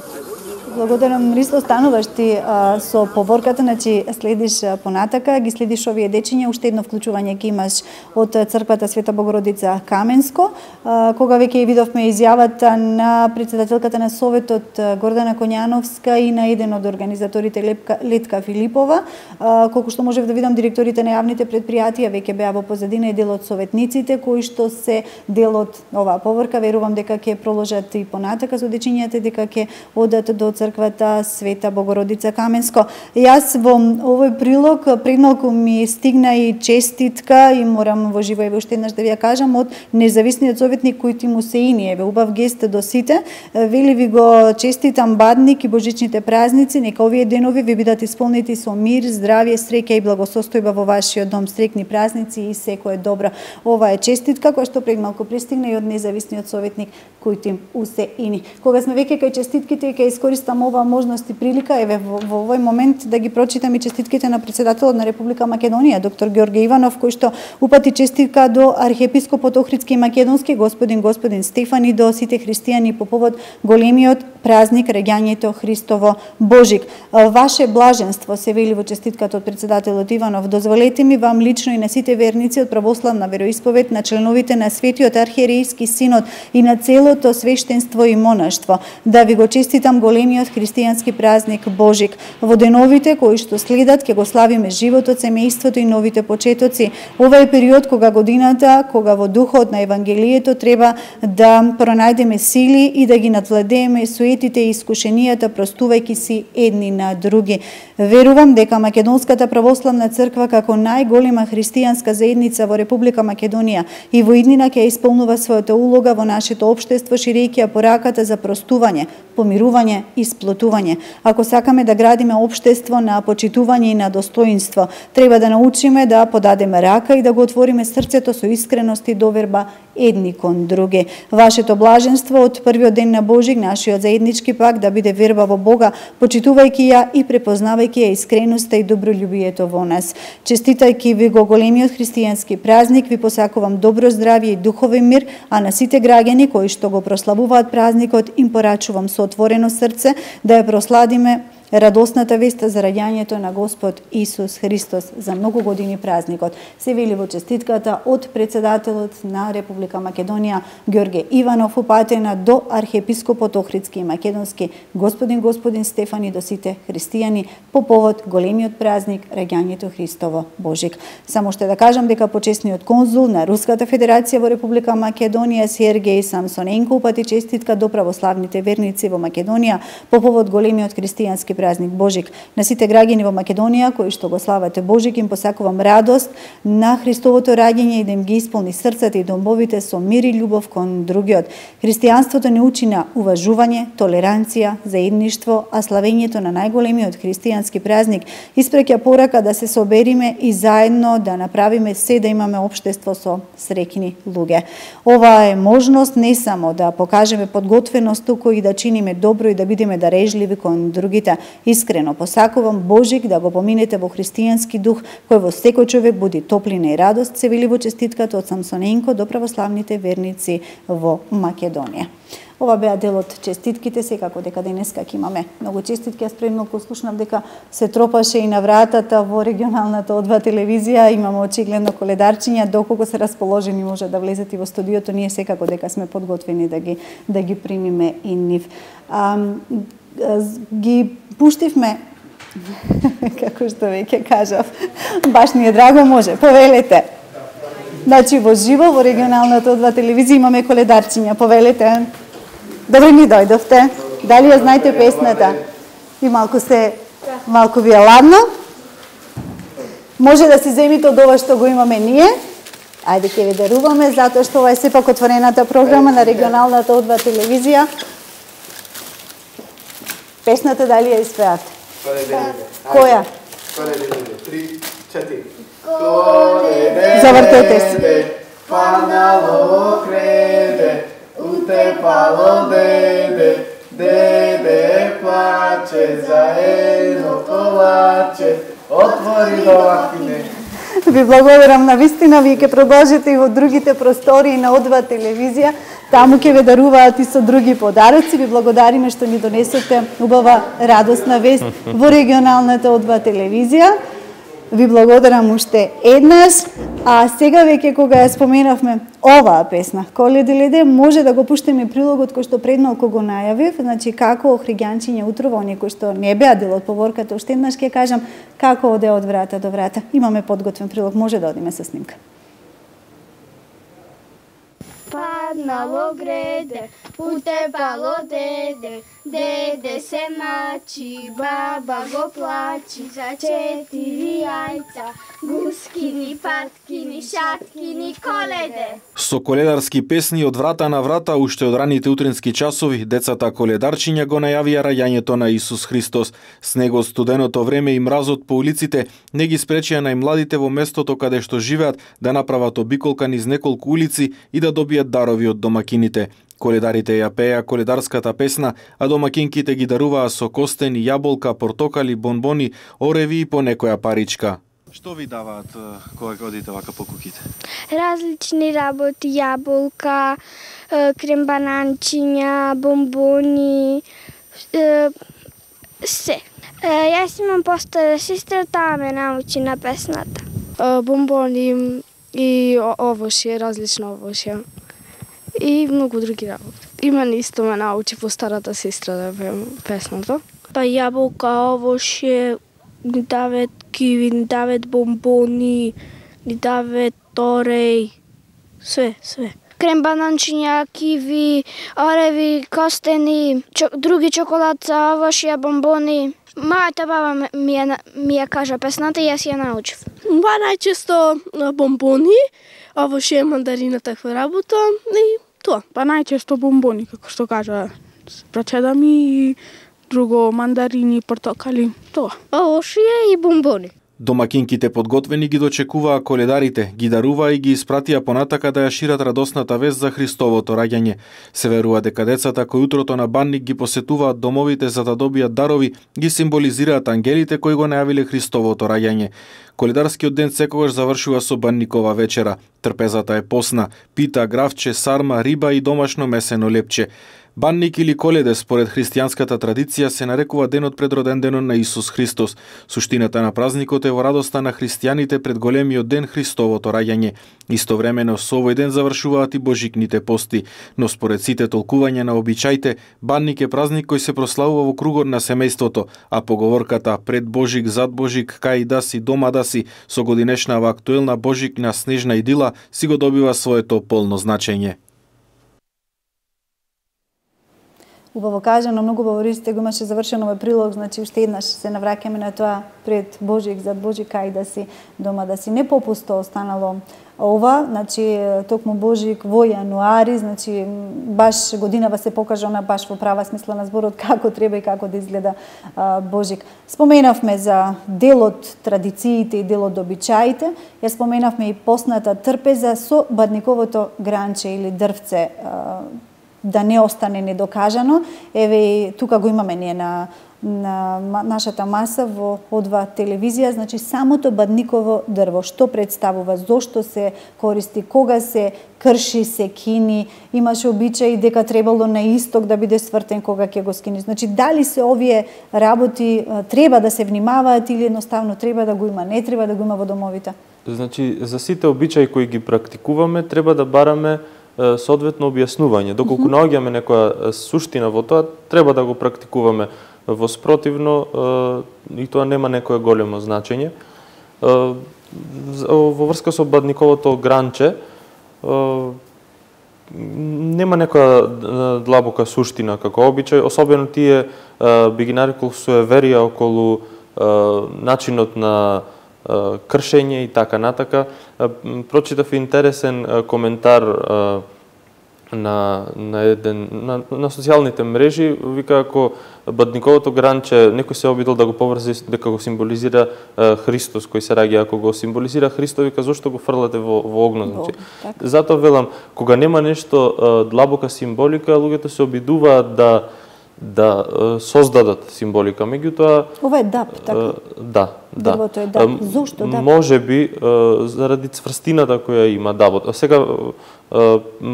Благодарам, Ристо, остануваш ти а, со поворката, значи следиш а, понатака, ги следиш овие дечиња, уште едно вклучување ќе имаш од црквата Света Богородица Каменско. А, кога веќе видовме изјавата на председателката на Советот Гордана Коњановска и на еден од организаторите Лепка, Летка Филипова, а, колку што можев да видам, директорите на јавните предпријатија веќе беа во позадина и дел од советниците кои што се дел од оваа поворка. Верувам дека ќе проложат и понатака со дечињата, дека ќе одат до црквата Света Богородица Каменско. Јас во овој прилог пред малку ми стигна и честитка и морам во живо еве уште еднаш да ви ја кажам од независниот советник Којти Мусеини, еве убав гест до сите. Вели ви го честитам Бадник и божичните празници, нека овие денови ви бидат исполнети со мир, здравје, среќа и благосостојба во вашиот дом. Среќни празници и секое добро. Ова е честитка која што пред малку пристигна и од независниот советник Којти Мусеини. Кога сме веќе кај честитките, ќе искористам оваа можност и прилика, еве во, во овој момент да ги прочитам и честитките на председателот на Република Македонија, доктор Ѓорге Иванов, кој што упати честитка до архиепископот Охридски и Македонски, господин господин Стефани, до сите христијани по повод големиот празник раѓањето Христово Божик. Ваше блаженство, се вели во честитката од председателот Иванов, дозволете ми вам лично и на сите верници од православна вероисповед, на членовите на Светиот архиерејски синод и на целото свештенство и монаштво, да ви го честитам големиот христијански празник Божик. Во деновите кои што следат ќе го славиме животот, семејството и новите почетоци. Ова е период кога годината, кога во духот на Евангелието треба да пронајдеме сили и да ги надвладееме суетите и искушенијата, простувајќи си едни на други. Верувам дека Македонската православна црква како најголема христијанска заедница во Република Македонија и во иднина ќе исполнува својата улога во нашето општество, ширејќи ја пораката за простување, помирување и сплотување. Ако сакаме да градиме општество на почитување и на достоинство, треба да научиме да подадеме рака и да го отвориме срцето со искреност и доверба едни кон други. Вашето блаженство од првиот ден на Божик, нашиот заеднички пак, да биде верба во Бога, почитувајќи ја и препознавајќи ја искреноста и добролюбието во нас. Честитајќи ви го големиот христијански празник, ви посакувам добро здравје и духовен мир, а на сите граѓани кои што го прославуваат празникот, им порачувам со отворено срце да ја просладиме радосната веста за раѓањето на Господ Исус Христос за многу години празникот. Се вели во честитката од председателот на Република Македонија Ѓорге Иванов, упатена до архиепископот Охридски и Македонски, господин господин Стефани, до сите христијани по повод големиот празник раѓањето Христово Божик. Само што да кажам дека почесниот конзул на Руската Федерација во Република Македонија Сергеј Самсоненко упати честитка до православните верници во Македонија по повод големиот христијански празник Божик. На сите граѓани во Македонија кои што го славате Божик, им посакувам радост на Христовото раѓање и да им ги исполни срцата и домовите со мир и љубов кон другиот. Христијанството не учи на уважување, толеранција, заедништво, а славењето на најголемиот христијански празник испреќа порака да се собериме и заедно да направиме се да имаме општество со среќни луѓе. Ова е можност не само да покажеме подготвеност, туку и да чиниме добро и да бидеме дарежливи кон другите. Искрено посакувам Божик да го поминете во христијански дух, кој во секој човек буди топлина и радост, се вели во честитката од Самсоненко до православните верници во Македонија. Ова беа дел од честитките, секако дека денеска ќе имаме многу честитки. Јас пред малку слушнав дека се тропаше и на вратата во регионалната О два телевизија, имаме очигледно коледарчиња, доколку се расположени може да влезете во студиото, ние секако дека сме подготвени да ги да ги примиме и нив. А, ги пуштивме како што веќе кажав, баш ни е драго, може, повелете. Значи во живо во регионалната О два телевизија имаме коледарчиња, повелете. Добре ми дојдовте. Дали ја знаете песната? И малку се малку ви е ладно? може да си земите од ова што го имаме ние. Ајде ќе ви даруваме, затоа што ова е сепак отворената програма на регионалната О два телевизија. Песната дали ја испеате? Која? Три, четири. Завртете се. Падало креде, утепало деде, деде плаче за едно колаче, отвори домакине. Ви благодарам на вистина, вие ќе продолжите и во другите простории на О два телевизија, таму ќе ве даруваат и со други подароци. Ви благодариме што ни донесете убава радосна вест во регионалната О два телевизија. Ви благодарам уште еднаш, а сега веќе кога ја споменавме оваа песна, Коледе леде, може да го пуштиме прилогот кој што пред малку го најавив, значи како Охриѓанчиња утрово, оние кои што не беа дел од поворката, уште еднаш ќе кажам како оде од врата до врата. Имаме подготвен прилог, може да одиме со снимка. Паднало греде, утепало деде, деде се мачи, баба го плачи за четири јајца, гускини, паткини, шаткини, коледе. Со коледарски песни од врата на врата, уште од раните утрински часови, децата коледарчиња го најавија раѓањето на Исус Христос. Снегот, студеното време и мразот по улиците не ги спречија најмладите во местото каде што живеат да направат обиколка низ неколку улици и да добијат дарови од домакините. Коледарите ја пееа коледарската песна, а домакинките ги даруваа со костени, јаболка, портокали, бонбони, ореви и по некоја паричка. Што ви даваат кога одите вака по куќите? Различни работи, јаболка, крем бананчиња, бомбони, се. Јас имам постара сестра, таа ме научи на песната. Бомбони и овошје, различно овошје. И многу други работи. И мене исто ме научи постарата сестра да пеем песната. Па јаболка, овошје, ни дават киви, ни дават бомбони, ни дават тореј, све, све. Крем бананчиња, киви, ореви, костени, чо, други чоколадца, овошје, бомбони. Мајата баба ми ја, ми ја кажа песната и јас ја научив. Ба најчесто бомбони, овошје, мандарина, таква работа и тоа. Па најчесто бомбони, како што кажа прачеда ми, и друго мандарини, портокали, тоа. Овошје и бомбони. Домакинките подготвени ги дочекуваа коледарите, ги даруваа и ги испратија понатака да ја шират радосната вест за Христовото раѓање. Се верува дека децата кои утрото на Банник ги посетуваат домовите за да добијат дарови, ги символизираат ангелите кои го најавиле Христовото раѓање. Коледарскиот ден секогаш завршува со банникова вечера. Трпезата е посна, пита, гравче, сарма, риба и домашно месено лепче. Банник или Коледе според христијанската традиција се нарекува денот пред роден денот на Исус Христос. Суштината на празникот е во радоста на христијаните пред големиот ден Христовото раѓање. Истовремено со овој ден завршуваат и божикните пости, но според сите толкувања на обичаите, Банник е празник кој се прославува во кругот на семејството, а поговорката пред Божик, зад Божик, кај да си, дома да си, со годинешнава актуелна божикна снежна идила си го добива своето полно значење. Убаво кажано, многу говорите, го имаше завршено овој прилог, значи уште еднаш се навраќаме на тоа пред Божик, зад Божик, кај да си, дома да си. Не попусто останало ова, значи токму Божик во јануари, значи баш годинава се покажа она баш во права смисла на зборот како треба и како да изгледа а, Божик. Споменавме за делот традициите и делот обичаите, ја споменавме и постната трпеза со бадниковото гранче или дрвце, а, да не остане недокажано. Еве и тука го имаме ние на, на нашата маса во О два телевизија, значи самото бадниково дрво, што представува, зошто се користи, кога се крши, се кини, имаше обичај дека требало на исток да биде свртен кога ќе го скини. Значи дали се овие работи треба да се внимаваат или едноставно треба да го има, не треба да го има во домовите? Значи за сите обичаи кои ги практикуваме треба да бараме соодветно објаснување. Доколку mm-hmm. наоѓаме некоја суштина во тоа, треба да го практикуваме. Во спротивно, и тоа нема некое големо значење. Во врска со бадниковото гранче, нема некоја длабока суштина како обичај, особено тие би ги нарекол суеверија околу начинот на кршење и така натака. Прочитав интересен коментар на на еден на, на социјалните мрежи, вика ако бадниковото гранче некој се обидел да го поврзе дека го символизира е, Христос кој се раѓа, ако го символизира Христос, вика зошто го фрлате во во огнот, значи. Затоа велам, кога нема нешто е, длабока символика, луѓето се обидуваат да да е, создадат символика. Меѓутоа ова е даб, така. Да, да. Дрвото е даб. Зошто даб? Можеби заради цврстината која има дабот. А сега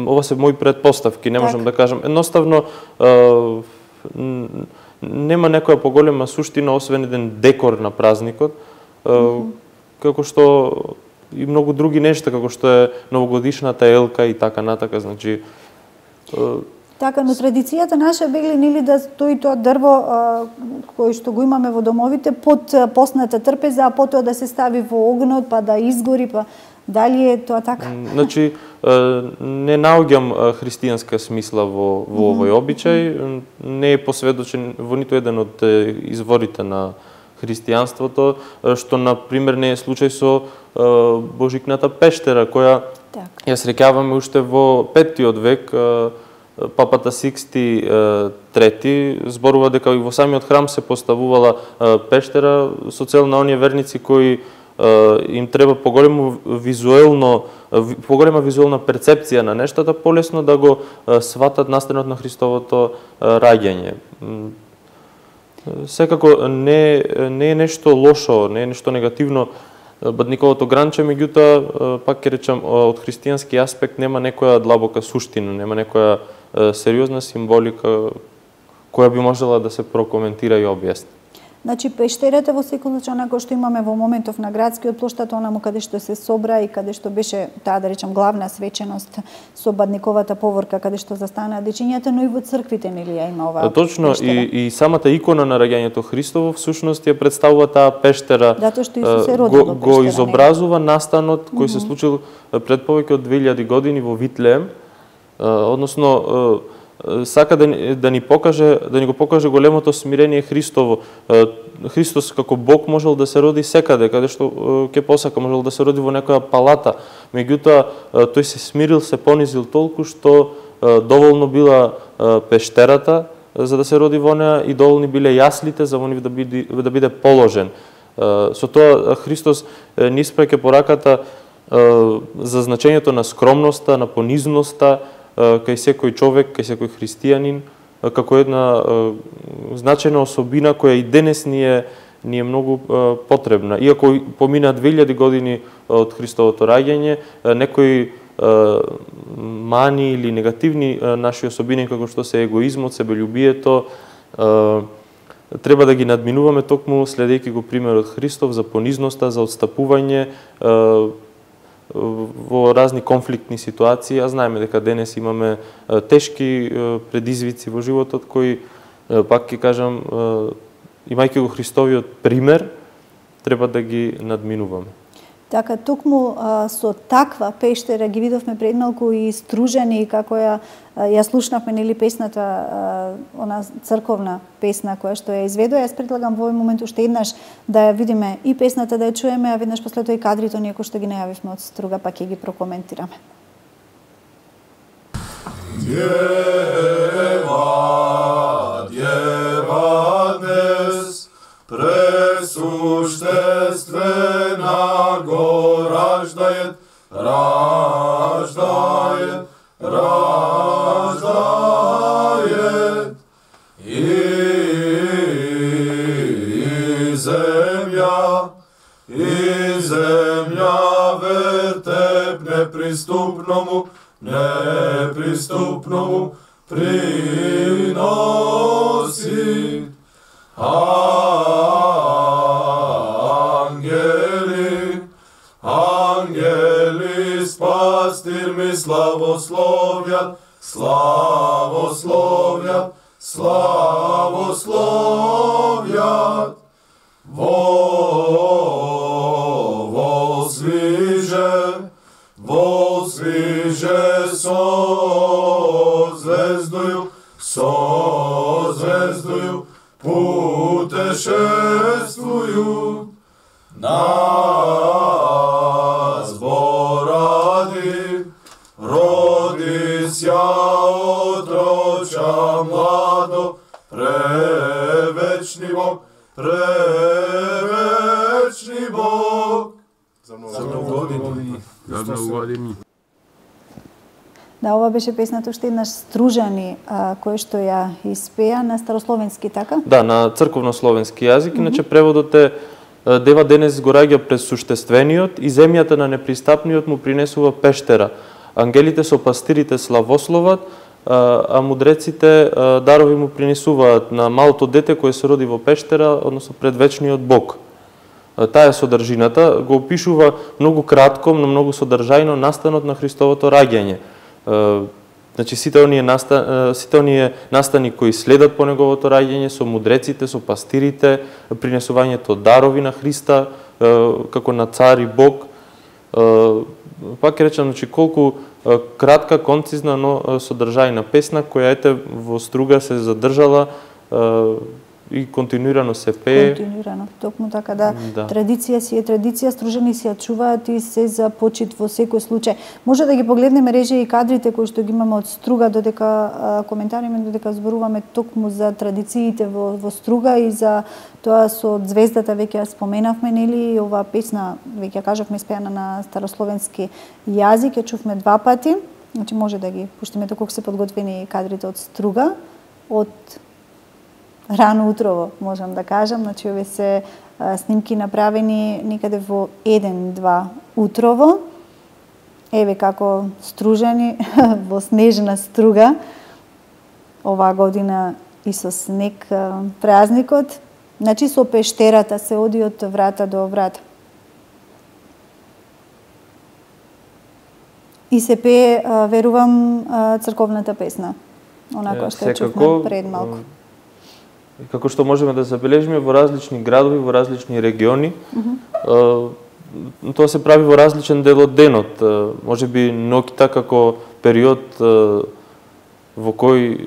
ова се мои претпоставки, не можам да кажам. Едноставно нема некоја поголема суштина освен еден декор на празникот, како што и многу други нешта, како што е новогодишната елка и така натака, значи Така, но традицијата наша бегли нели да стои тоа дрво а, кој што го имаме во домовите под постната трпеза, а потоа да се стави во огнот, па да изгори, па дали е тоа така? Значи, не наоѓам христијанска смисла во, во овој обичај, не е посведочен во ниту еден од изворите на христијанството, што на пример не е случај со Божикната пештера, која так. ја среќаваме уште во петтиот век. Папата Сиксти трети зборува дека и во самиот храм се поставувала пештера со цел на оние верници кои им треба поголемо визуелно поголема визуелна перцепција на нештата, полесно да го сватат настанот на Христовото раѓање. Секако не не е нешто лошо, не е нешто негативно бадниковото гранче, меѓутоа пак ќе речам од христијански аспект нема некоја длабока суштина, нема некоја сериозна символика која би можела да се прокоментира и објасни. Значи пештерата во секој случај онако што имаме во моментов на градскиот плоштад, онаму каде што се собра и каде што беше таа да речам главна свеченост со бадниковата поворка каде што застанаа дечињата, но и во црквите нели ја има оваа. Точно пештера. и и самата икона на раѓањето Христово всушност ја представува таа пештера. Затоа што Исус се роди го, го изобразува настанот кој mm -hmm. се случил пред повеќе од две илјади години во Витлеем. Односно сака да ни, да ни покаже, да ни го покаже големото смирение Христово. Христос како Бог можел да се роди секаде, каде што ќе посака, можел да се роди во некоја палата. Меѓутоа тој се смирил, се понизил толку што доволно била пештерата за да се роди во неа и доволни биле јаслите за во нив да биде да биде положен. Со тоа Христос ни испраќа пораката за значењето на скромноста, на понизноста кај секој човек, кај секој христијанин, како една значајна особина која и денес ни е, ни е многу потребна. Иако помина две илјади години од Христовото раѓање, некои мани или негативни наши особини, како што се егоизмот, себелюбието, треба да ги надминуваме токму следејќи го примерот Христов за понизноста, за отстапување во разни конфликтни ситуации. А знаеме дека денес имаме тешки предизвици во животот кои, пак ќе кажам, имајќи го Христовиот пример, треба да ги надминуваме. Така, токму а, со таква пештера ги видовме пред малку и Стружани, како ја, ја слушнавме нели песната, а, она црковна песна која што ја изведува. Јас предлагам во овој момент уште еднаш да ја видиме и песната, да ја чуеме, а веднаш после тоа и кадрите оние кои што ги најавивме од Струга, па ќе ги прокоментираме. Дева, дева днес, пресуштествена го раждајет, раждајет, раждајет. И, и земја, и земја вертеп неприступному, неприступному приноси. Ангели, ангели, спастир ми славословјат, славословјат, славословјат. Во, возвиже, возвиже со звездою, со звездою, путешествуют на години. За многу години. Да, ова беше песната уште еднаш Стружани, а, кој што ја испеа на старословенски, така? Да, на црковнословенски јазик, mm -hmm. иначе преводот е Дева денес го раѓа през суштествениот и земјата на непристапниот му принесува пештера. Ангелите со пастирите славословат, а мудреците дарови му принесуваат на малото дете кое се роди во пештера, односно пред вечниот Бог. Таа е содржината, го опишува многу кратко, но многу содржајно настанот на Христовото раѓање. Значи сите оние настани, сите оние настани кои следат по неговото раѓање со мудреците, со пастирите, принесувањето дарови на Христа како на цар и Бог. Пак ќе речам, значи колку кратка, концизна, но содржајна песна која ете во Струга се задржала и континуирано се пее. Континуирано, токму така, да. Да. Традиција си е традиција, Стружани си ја чуваат и се за почит во секој случај. Може да ги погледнеме режија и кадрите кои што ги имаме од Струга, додека а, коментариме, додека зборуваме токму за традициите во, во Струга и за тоа со звездата, веќе ја споменавме, нели, и оваа песна, веќе ја кажавме, испеана на старословенски јазик, ја чувме два пати. Значи може да ги пуштиме доколку се подготвени кадрите од Струга, од рано утрово, можам да кажам. Значи, овие се а, снимки направени некаде во еден-два утрово. Еве како Стружани во снежна Струга. Оваа година и со снег а, празникот. Значи, со пештерата се оди од врата до врата. И се пее, а, верувам, а, црковната песна. Онака што ја чувме пред малку. Како што можеме да забележиме во различни градови, во различни региони, mm -hmm. тоа се прави во различен дел од денот. Може би ноќта како период во кој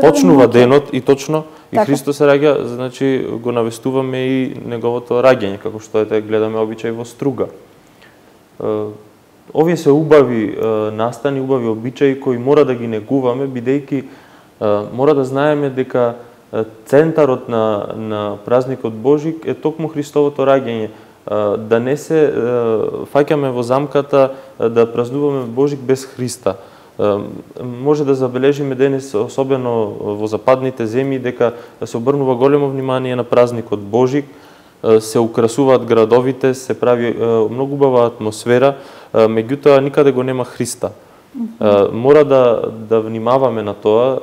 почнува денот и точно и така. Христос се раѓа, значи го навестуваме и неговото раѓање, како што ете гледаме обичај во Струга. Овие се убави настани, убави обичаи кои мора да ги негуваме, бидејќи мора да знаеме дека центарот на, на празникот Божик е токму Христовото раѓање. Да не се фаќаме во замката да празнуваме Божик без Христа. Може да забележиме денес, особено во западните земји, дека се обрнува големо внимание на празникот Божик, се украсуваат градовите, се прави многу убава атмосфера, меѓутоа никаде го нема Христа. Mm-hmm. Мора да, да внимаваме на тоа.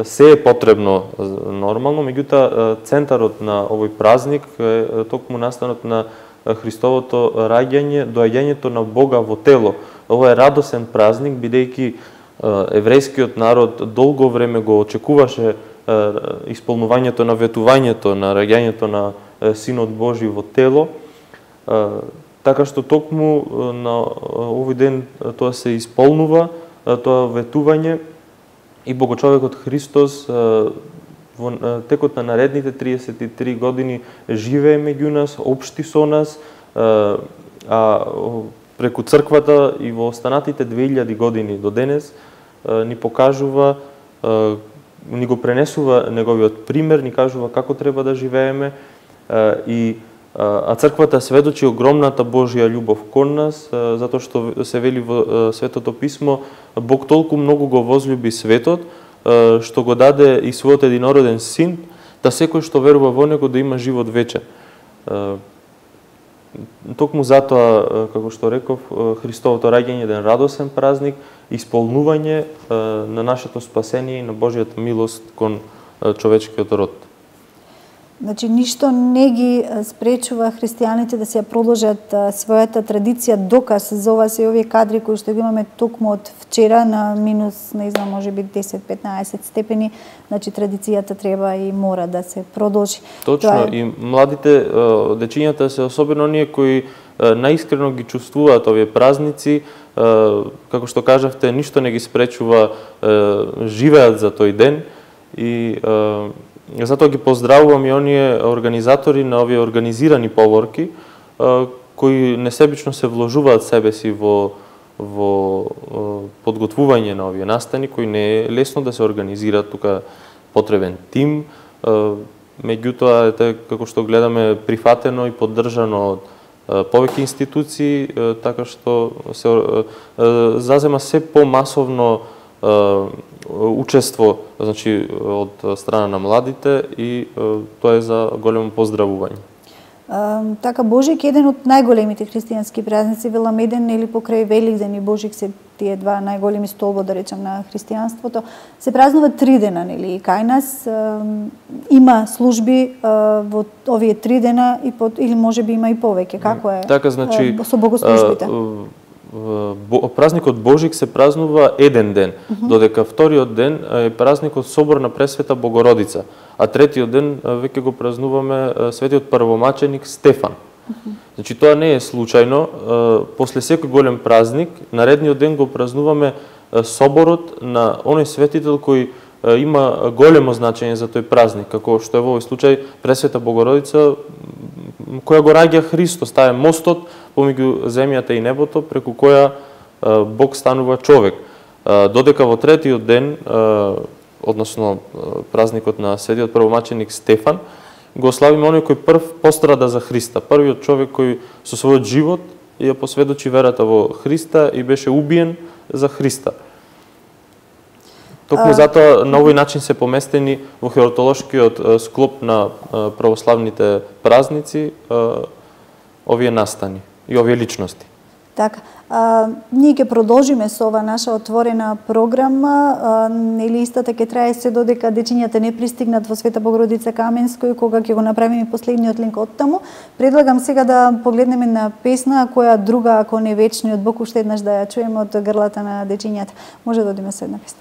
Се е потребно нормално, меѓутоа центарот на овој празник е токму настанот на Христовото раѓање, доаѓањето на Бога во тело. Ова е радосен празник, бидејќи еврејскиот народ долго време го очекуваше исполнувањето на ветувањето, на раѓањето на Синот Божи во тело, така што токму на овој ден тоа се исполнува, тоа ветување, и Богочовекот Христос во текот на наредните триесет и три години живее меѓу нас, општи со нас, а преку црквата и во останатите две илјади години до денес ни покажува, ни го пренесува неговиот пример, ни кажува како треба да живееме, и а црквата сведочи огромната Божја љубов кон нас, затоа што се вели во Светото писмо, Бог толку многу го возлюби светот, што го даде и својот единороден син, да секој што верува во него да има живот вечен. Токму затоа, како што реков, Христовото раѓање е еден радосен празник, исполнување на нашето спасение и на Божјата милост кон човечкиот род. Значи, ништо не ги спречува христијаните да се продолжат својата традиција, доказ за ова се овие кадри кои што ги имаме токму од вчера на минус, не знам, може би десет-петнаесет степени, значи традицијата треба и мора да се продолжи. Точно, е... и младите дечињата се особено оние кои наискрено ги чувствуваат овие празници, како што кажавте, ништо не ги спречува, живеат за тој ден и затоа ги поздравувам и оние организатори на овие организирани поворки, кои несебично се вложуваат себе си во, во подготвување на овие настани, кои не е лесно да се организираат, тука потребен тим, меѓутоа, ете, како што гледаме, прифатено и поддржано од повеќе институции, така што се зазема се помасовно учество, значи од страна на младите, и тоа е за големо поздравување. Uh, така, Божик е еден од најголемите христијански празници, велам еден или покрај Великден и Божик се тие два најголеми столбо, да речем, на христијанството. Се празнува три дена, нели? И кај нас uh, има служби uh, во овие три дена и под, или можеби има и повеќе. Како е? Така, значи, uh, со богослужбите? Uh, празникот Божик се празнува еден ден, uh -huh. додека вториот ден е празникот Собор на Пресвета Богородица, а третиот ден веќе го празнуваме светиот првомаченик Стефан. Uh -huh. Значи тоа не е случајно, после секој голем празник, наредниот ден го празнуваме соборот на оној светител кој има големо значење за тој празник, како што е во овој случај Пресвета Богородица, која го раѓа Христос, таа е мостот помеѓу земјата и небото, преку која Бог станува човек. Додека во третиот ден, односно празникот на светиот првомаченик Стефан, го славиме оној кој прв пострада за Христа, првиот човек кој со својот живот ја посведочи верата во Христа и беше убиен за Христа. Токму затоа на овој начин се поместени во хератолошкиот склоп на православните празници овие настани и овие личности. Така, а, ние ќе продолжиме со ова наша отворена програма, а, нели истата ќе трае се додека дечињата не пристигнат во Света Богородица Каменско, и кога ќе го направиме последниот линк од таму. Предлагам сега да погледнеме на песна, која друга, ако не вечниот Бог, уште еднаш да ја чуеме од грлата на дечињата. Може да одиме со една песна.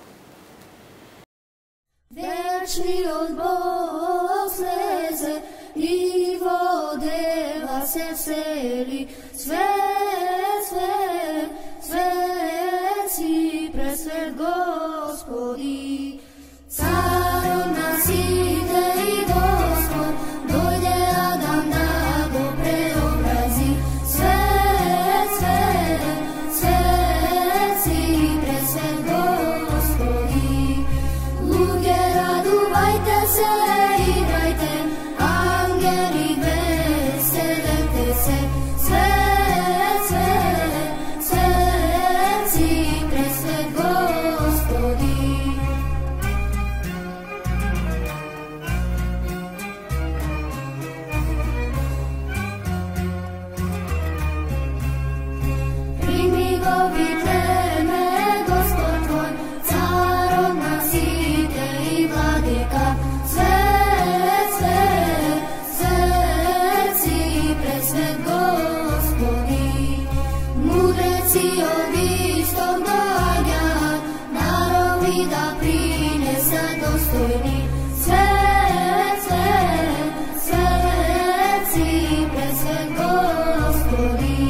Вечниот Бог слезе и водела се всели, свет, свет, свет си пресвет Господи. Царот на сите и Господ, дојде Адам да го преобрази. Свет, свет, свет си пресвет Господи. Луѓе, радувајте се, играјте, ангели веселете се. Свет, свет, свет си пресвет Господи. Прими го викнеме Господ твој, царот на сите и владика. Свет, свет, свет си пресвет Господи. Мудреци од исток доаѓаат, народи да принесат достојни. Свет, свет, свет си пресвет Господи.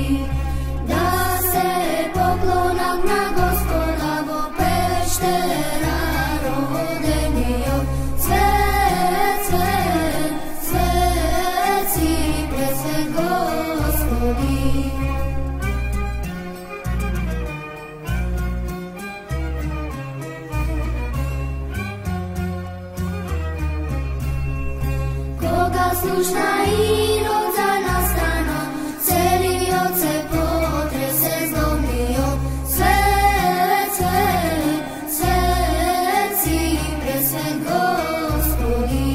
Да се поклонат на Господа во пештера родениот. Свет, свет, свет си пресвет Господи. Кога слушна Ирод за настана, целиот се потресе злобниот. Свет, свет, свет си пресвет Господи.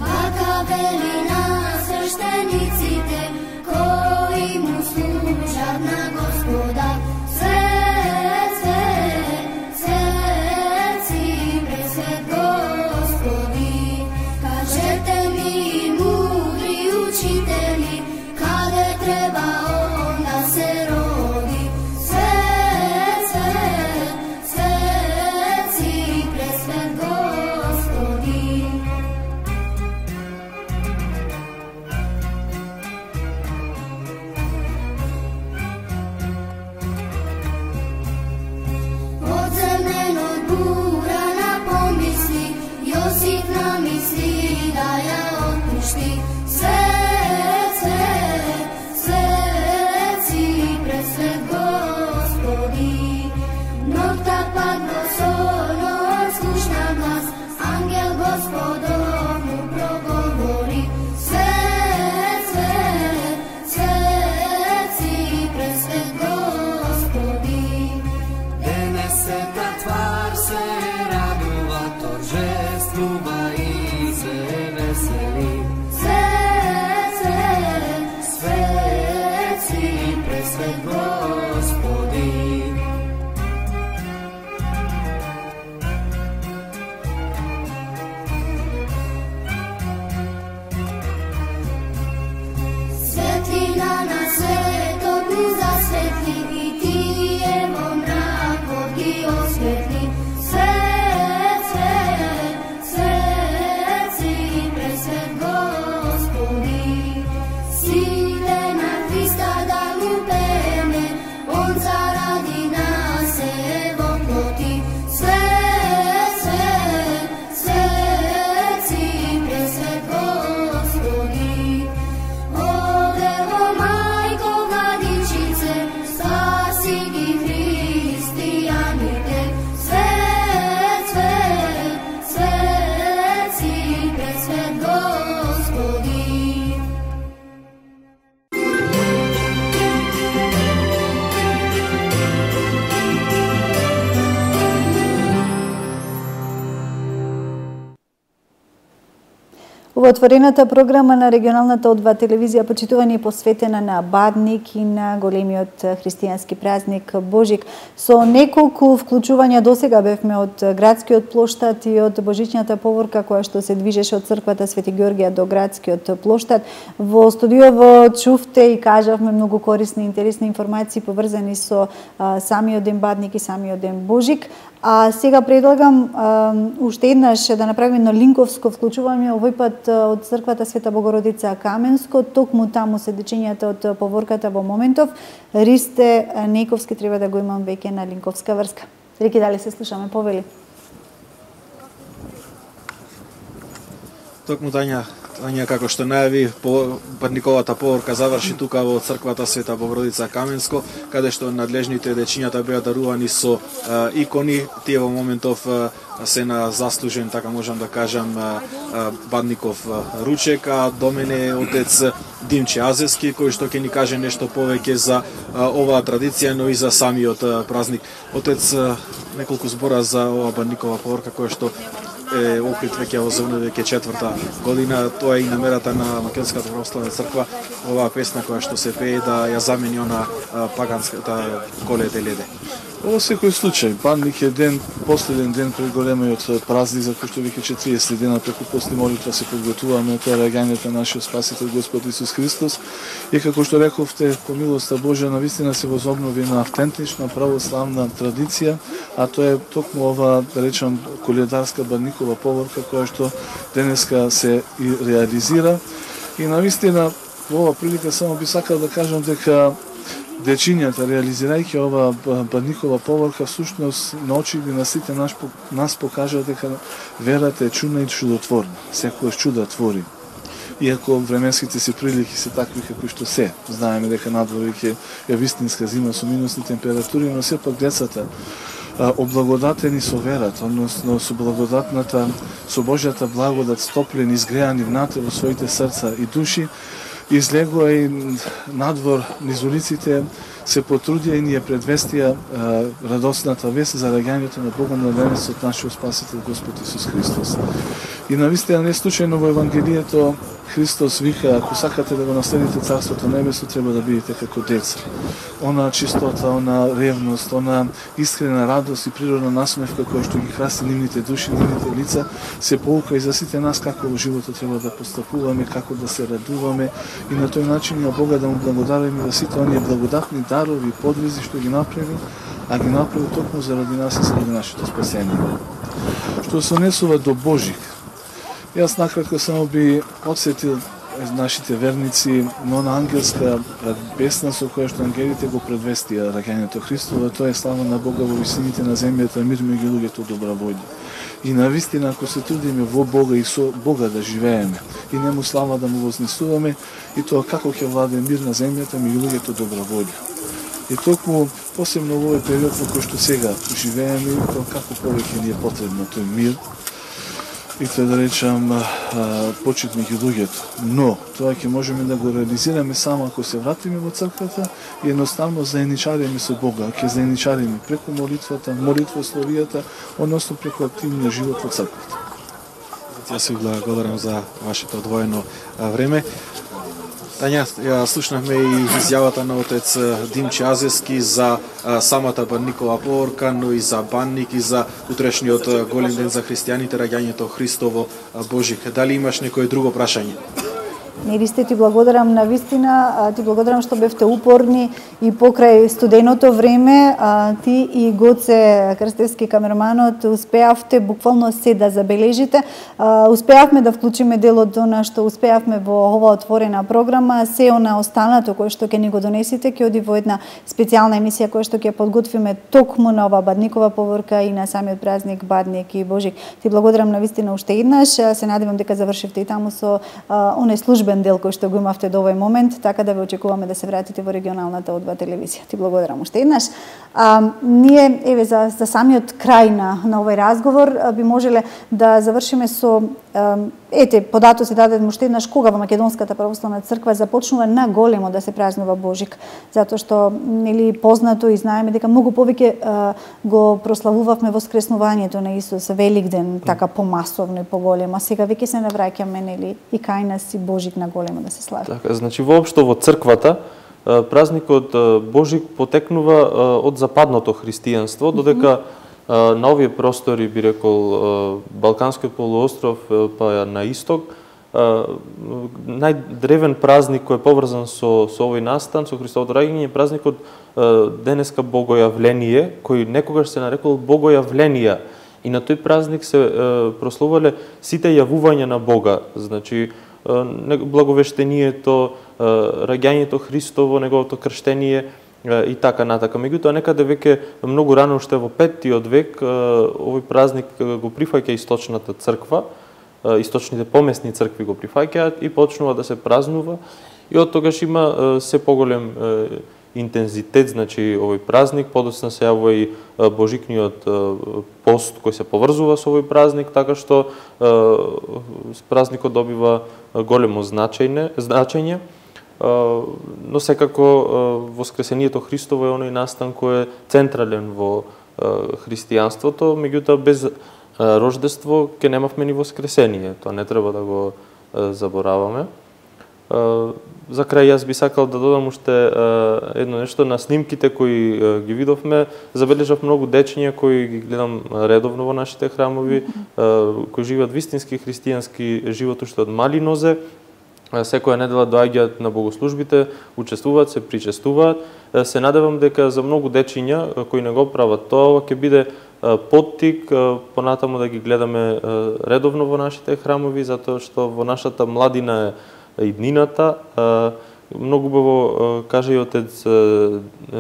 Вака вели на свештениците, кои му служат на Господа. Свет, свет, свет си пресвет Господи. Кажете ми му Ова отворената програма на регионалната одва телевизија почитувани посветена на Бадник и на големиот христијански празник Божик. Со неколку вклучувања досега бевме од градскиот плоштад и од божичната поворка која што се движеше од црквата Свети Ѓоргија до градскиот плоштад. Во студиово чувте и кажавме многу корисни и интересни информации поврзани со а, самиот ден Бадник и самиот ден Божик. А сега предлагам а, уште еднаш да направиме едно линковско вклучување, овој пат од црквата Света Богородица Каменско, токму таму се дечињата од поворката во моментов. Ристе Нејковски треба да го имам веќе на линковска врска. Реки, дали се слушаме, повели? Токму Тања, Тања како што најави, Бадниковата поворка заврши тука во црквата Света Богородица Каменско, каде што надлежните дечињата беа дарувани со а, икони. Тие во моментов а, се на заслужен, така можам да кажам, а, а, Бадников а, ручек, а до мене е отец Димче Азевски, кој што ќе ни каже нешто повеќе за а, оваа традиција, но и за самиот а, празник. Отец, а, неколку збора за оваа Бадникова поворка која што е окрит веќе во земја веќе четврта година. Тоа е и намерата на Македонската православна црква, оваа песна која што се пее да ја замени она паганската Коледе леде. Во секој случај, Бадник е ден, последен ден пред големиот празник, за кој што веќе четириесет дена преку постни молитва се подготуваме тоа раѓањето на нашиот Спасител Господ Исус Христос. И како што рековте, по милоста Божја, навистина се возобнови на автентична православна традиција, а тоа е токму ова, да речам, коледарска Бадникова поворка, која што денеска се и реализира. И навистина, во ова прилика само би сакал да кажам дека дечињата, реализирајќи ова Бадникова поворка, всушност на очите на сите нас, нас покажа дека верата е чудна и чудотворна. Секојаш чуда твори. Иако временските си прилики се такви како што се, знаеме дека надвор веќе е вистинска зима со минусни температури, но сепак децата облагодатени со верата, односно со благодатната, со Божјата благодат, стоплени, изгреани внатре во своите срца и души, излегоа и надвор низ улиците, се потрудија и ние предвестија а, радосната вест за раѓањето на Богомладенецот нашиот Спасител Господ Исус Христос. И навистина не случајно во Евангелието Христос вика, ако сакате да го наследите Царството Небесно, треба да бидете како деца. Она чистота, она ревност, она искрена радост и природна насмевка која што ги краси нивните души, нивните лица, се поука и за сите нас како во животот треба да постапуваме, како да се радуваме и на тој начин на Бога да му благодариме за сите оние благодатни дарови и подвизи што ги направи, а ги направи токму заради нас и заради нашето спасение. Што се однесува до Божик, јас накратко само би подсетил нашите верници на она ангелска песна со која што ангелите го предвестија раѓањето Христово, тоа е слава на Бога во висините на земјата, мир меѓу луѓето добра волја. И навистина, ако се трудиме во Бога и со Бога да живееме, и нему слава да му вознесуваме, и тоа како ќе владе мир на земјата меѓу луѓето добра волја. И токму посебно во овој период во кој што сега живееме, тоа како повеќе ни е потребно тој мир, и тоа да речам почит меѓу луѓето. Но тоа ќе можеме да го реализираме само ако се вратиме во црквата и едноставно заедничариме со Бога, ќе заедничариме преку молитвата, молитвословијата, односно преку активниот живот во црквата. Јас ви благодарам за вашето одвоено време. Тања, ја слушнавме и изјавата на отец Димче Азевски за а, самата Бадникова поворка, но и за Бадник и за утрешниот голем ден за христијаните, раѓањето Христово Божик. Дали имаш некој друго прашање? Неристе, ти благодарам на вистина, ти благодарам што бевте упорни и покрај студеното време, а, ти и Гоце Крстевски камерманот успеавте буквално се да забележите. А, успеавме да вклучиме делот она што успеавме во ова отворена програма, се она останато кое што ќе ни го донесите, ќе оди во една специјална емисија која што ќе подготвиме токму на ова Бадникова поворка и на самиот празник Бадник и Божик. Ти благодарам на вистина уште еднаш, се надевам дека завршивте и таму со а, оне службен изложбен дел кој што го имавте до овој момент, така да ве очекуваме да се вратите во регионалната О два телевизија. Ти благодарам уште еднаш. А, ние, еве, за, за самиот крај на, на овој разговор, би можеле да завршиме со, а, ете, податоци даден уште еднаш, кога во Македонската православна црква започнува на големо да се празнува Божик, затоа што, нели, познато и знаеме дека многу повеќе а, го прославувавме воскреснувањето на Исус, Великден, така помасовно и поголемо, а сега веќе се навраќаме, нели, и кај нас и Божик на големо да се слави. Така, значи воопшто во црквата празникот Божик потекнува од западното христијанство, додека на овие простори, би рекол, Балканскиот полуостров, па на исток, најдревен празник кој е поврзан со, со овој настан, со Христовото раѓање, е празникот денеска Богојавление, кој некогаш се нарекол Богојавленија. И на тој празник се прославувале сите јавувања на Бога, значи благовештението, раѓањето Христово, неговото крштение и така натака. Меѓутоа, некаде веќе многу рано, уште во петтиот век, овој празник го прифаќа источната црква, источните помесни цркви го прифаќаат и почнува да се празнува. И од тогаш има се поголем интензитет, значи овој празник, подоцна се јавува и божикниот пост кој се поврзува со овој празник, така што празникот добива големо значење, значење. Но секако воскресението Христово е оној настан кој е централен во христијанството, меѓутоа без рождество ќе немавме ни воскресение, тоа не треба да го забораваме. За крај јас би сакал да додам уште едно нешто на снимките кои ги видовме. Забележав многу дечиња кои ги гледам редовно во нашите храмови, кои живеат вистински христијански живот уште од мали нозе. Секоја недела доаѓаат на богослужбите, учествуваат, се причестуваат. Се надевам дека за многу дечиња кои не го прават тоа, ќе биде поттик понатаму да ги гледаме редовно во нашите храмови, затоа што во нашата младина е иднината. Многу убаво кажа и отец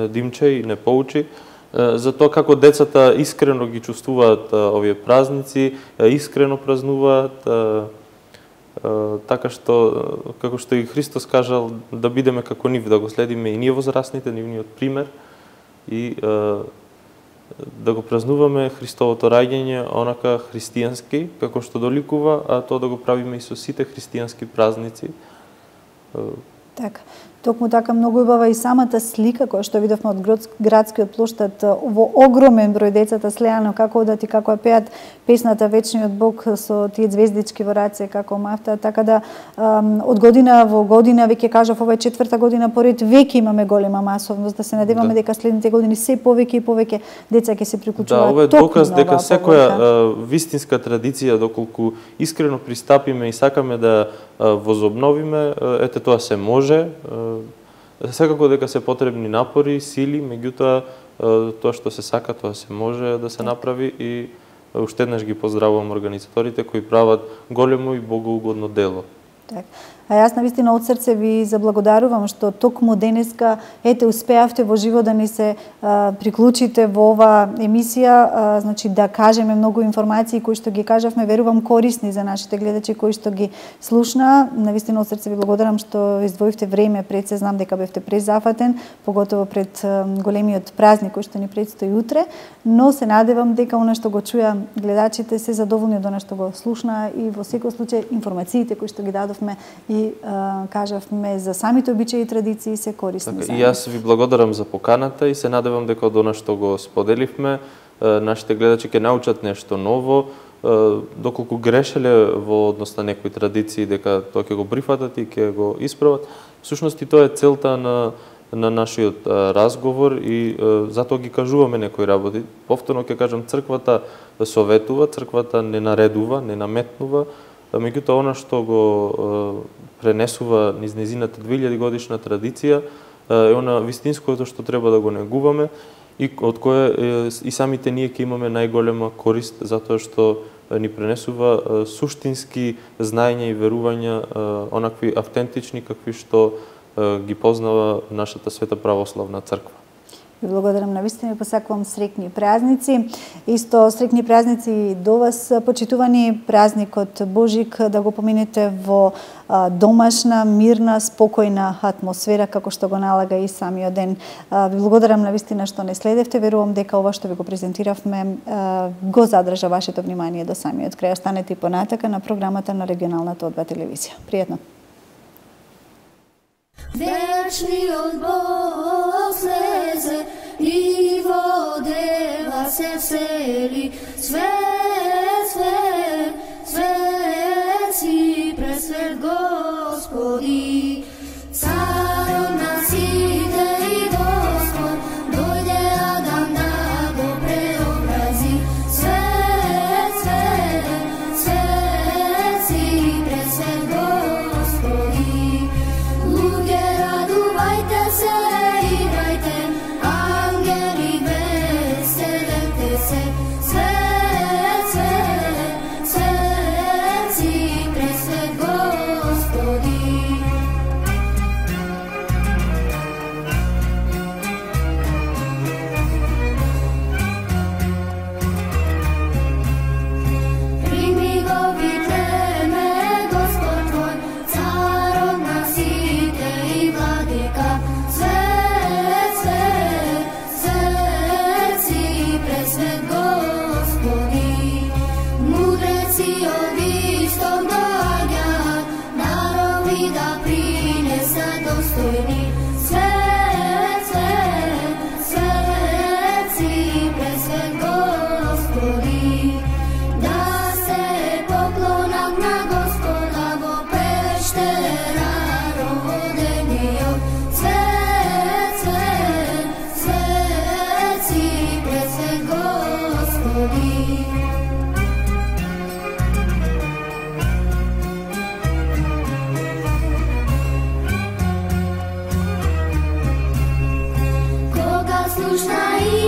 Димче, не поучи, за тоа како децата искрено ги чувствуваат овие празници, искрено празнуваат, така што, како што и Христос кажал, да бидеме како нив, да го следиме и ние возрастните, нивниот пример, и да го празнуваме Христовото раѓање онака христијански, како што доликува, а тоа да го правиме и со сите христијански празници. Така. Токму така многу убава и самата слика која што видовме од градскиот плоштад, во огромен број децата слеано како одат и како пеат песната Вечниот Бог со тие звездички во раце како мафта, така да од година во година, веќе кажав, ова е четврта година поред, веќе имаме голема масовност, да се надеваме да. дека следните години се повеќе и повеќе деца ќе се приклучуваат. Да, ова е доказ дека секоја вистинска традиција, доколку искрено пристапиме и сакаме да возобновиме, ете тоа се може. Секако дека се потребни напори, сили, меѓутоа тоа што се сака, тоа се може да се направи, и уште еднаш ги поздравувам организаторите кои прават големо и богоугодно дело. Так. А јас навистина од срце ви заблагодарувам што токму денеска ете успеавте во живо да ни се а, приклучите во ова емисија, а, значи да кажеме многу информации кои што ги кажавме, верувам корисни за нашите гледачи кои што ги слушна. Навистина од срце ви благодарам што издвоивте време пред се, знам дека бевте презафатен, поготово пред а, големиот празник кој што ни предстои утре, но се надевам дека она што го чуја гледачите се задоволни од она што го слушна, и во секој случај информациите кои што ги дадовме и а, кажавме за самите обичаи и традиции се корисни. Така, и јас ви благодарам за поканата и се надевам дека од она што го споделивме, нашите гледачи ќе научат нешто ново, доколку грешеле во однос на некои традиции, дека тоа ќе го прифатат и ќе го исправат. Всушност и тоа е целта на на нашиот разговор, и затоа ги кажуваме некои работи. Повторно ќе кажам, црквата советува, црквата не наредува, не наметнува, меѓутоа она што го пренесува низ незината две илјади годишна традиција е она вистинското што треба да го негуваме, и од кое и самите ние ќе имаме најголема корист, затоа што ни пренесува суштински знаења и верувања, онакви автентични какви што ги познава нашата света православна црква. Ви благодарам на вистина и посакувам среќни празници. Исто среќни празници и до вас, почитувани, празникот Божик да го поминете во домашна, мирна, спокојна атмосфера, како што го налага и самиот ден. Ви благодарам на вистина што не следевте. Верувам дека ова што ви го презентиравме го задржа вашето внимание до самиот крај. Останете и понатака на програмата на регионалната О два телевизија. Пријатно! Вечниот Бог слезе и во дева се всели. Свет, свет, свет си пресвет Господи. Царот на сите и Господ, дојде Адам да го преобрази. Свет, свет, свет си пресвет Господи. Луѓе, радувајте се, играјте, ангели веселете се. Свет, свет, свет си пресвет Господи. Прими го Витлеме, Господ твој, царот на сите и владика. Свет, свет, свет си пресвет Господи. Мудреци од исток доаѓаат, народи да принесат достојни. Свет, свет, свет си пресвет Господи. Да се поклонат на Господа во пештера родениот. Свет, свет, свет си пресвет Господи. Кога слушна и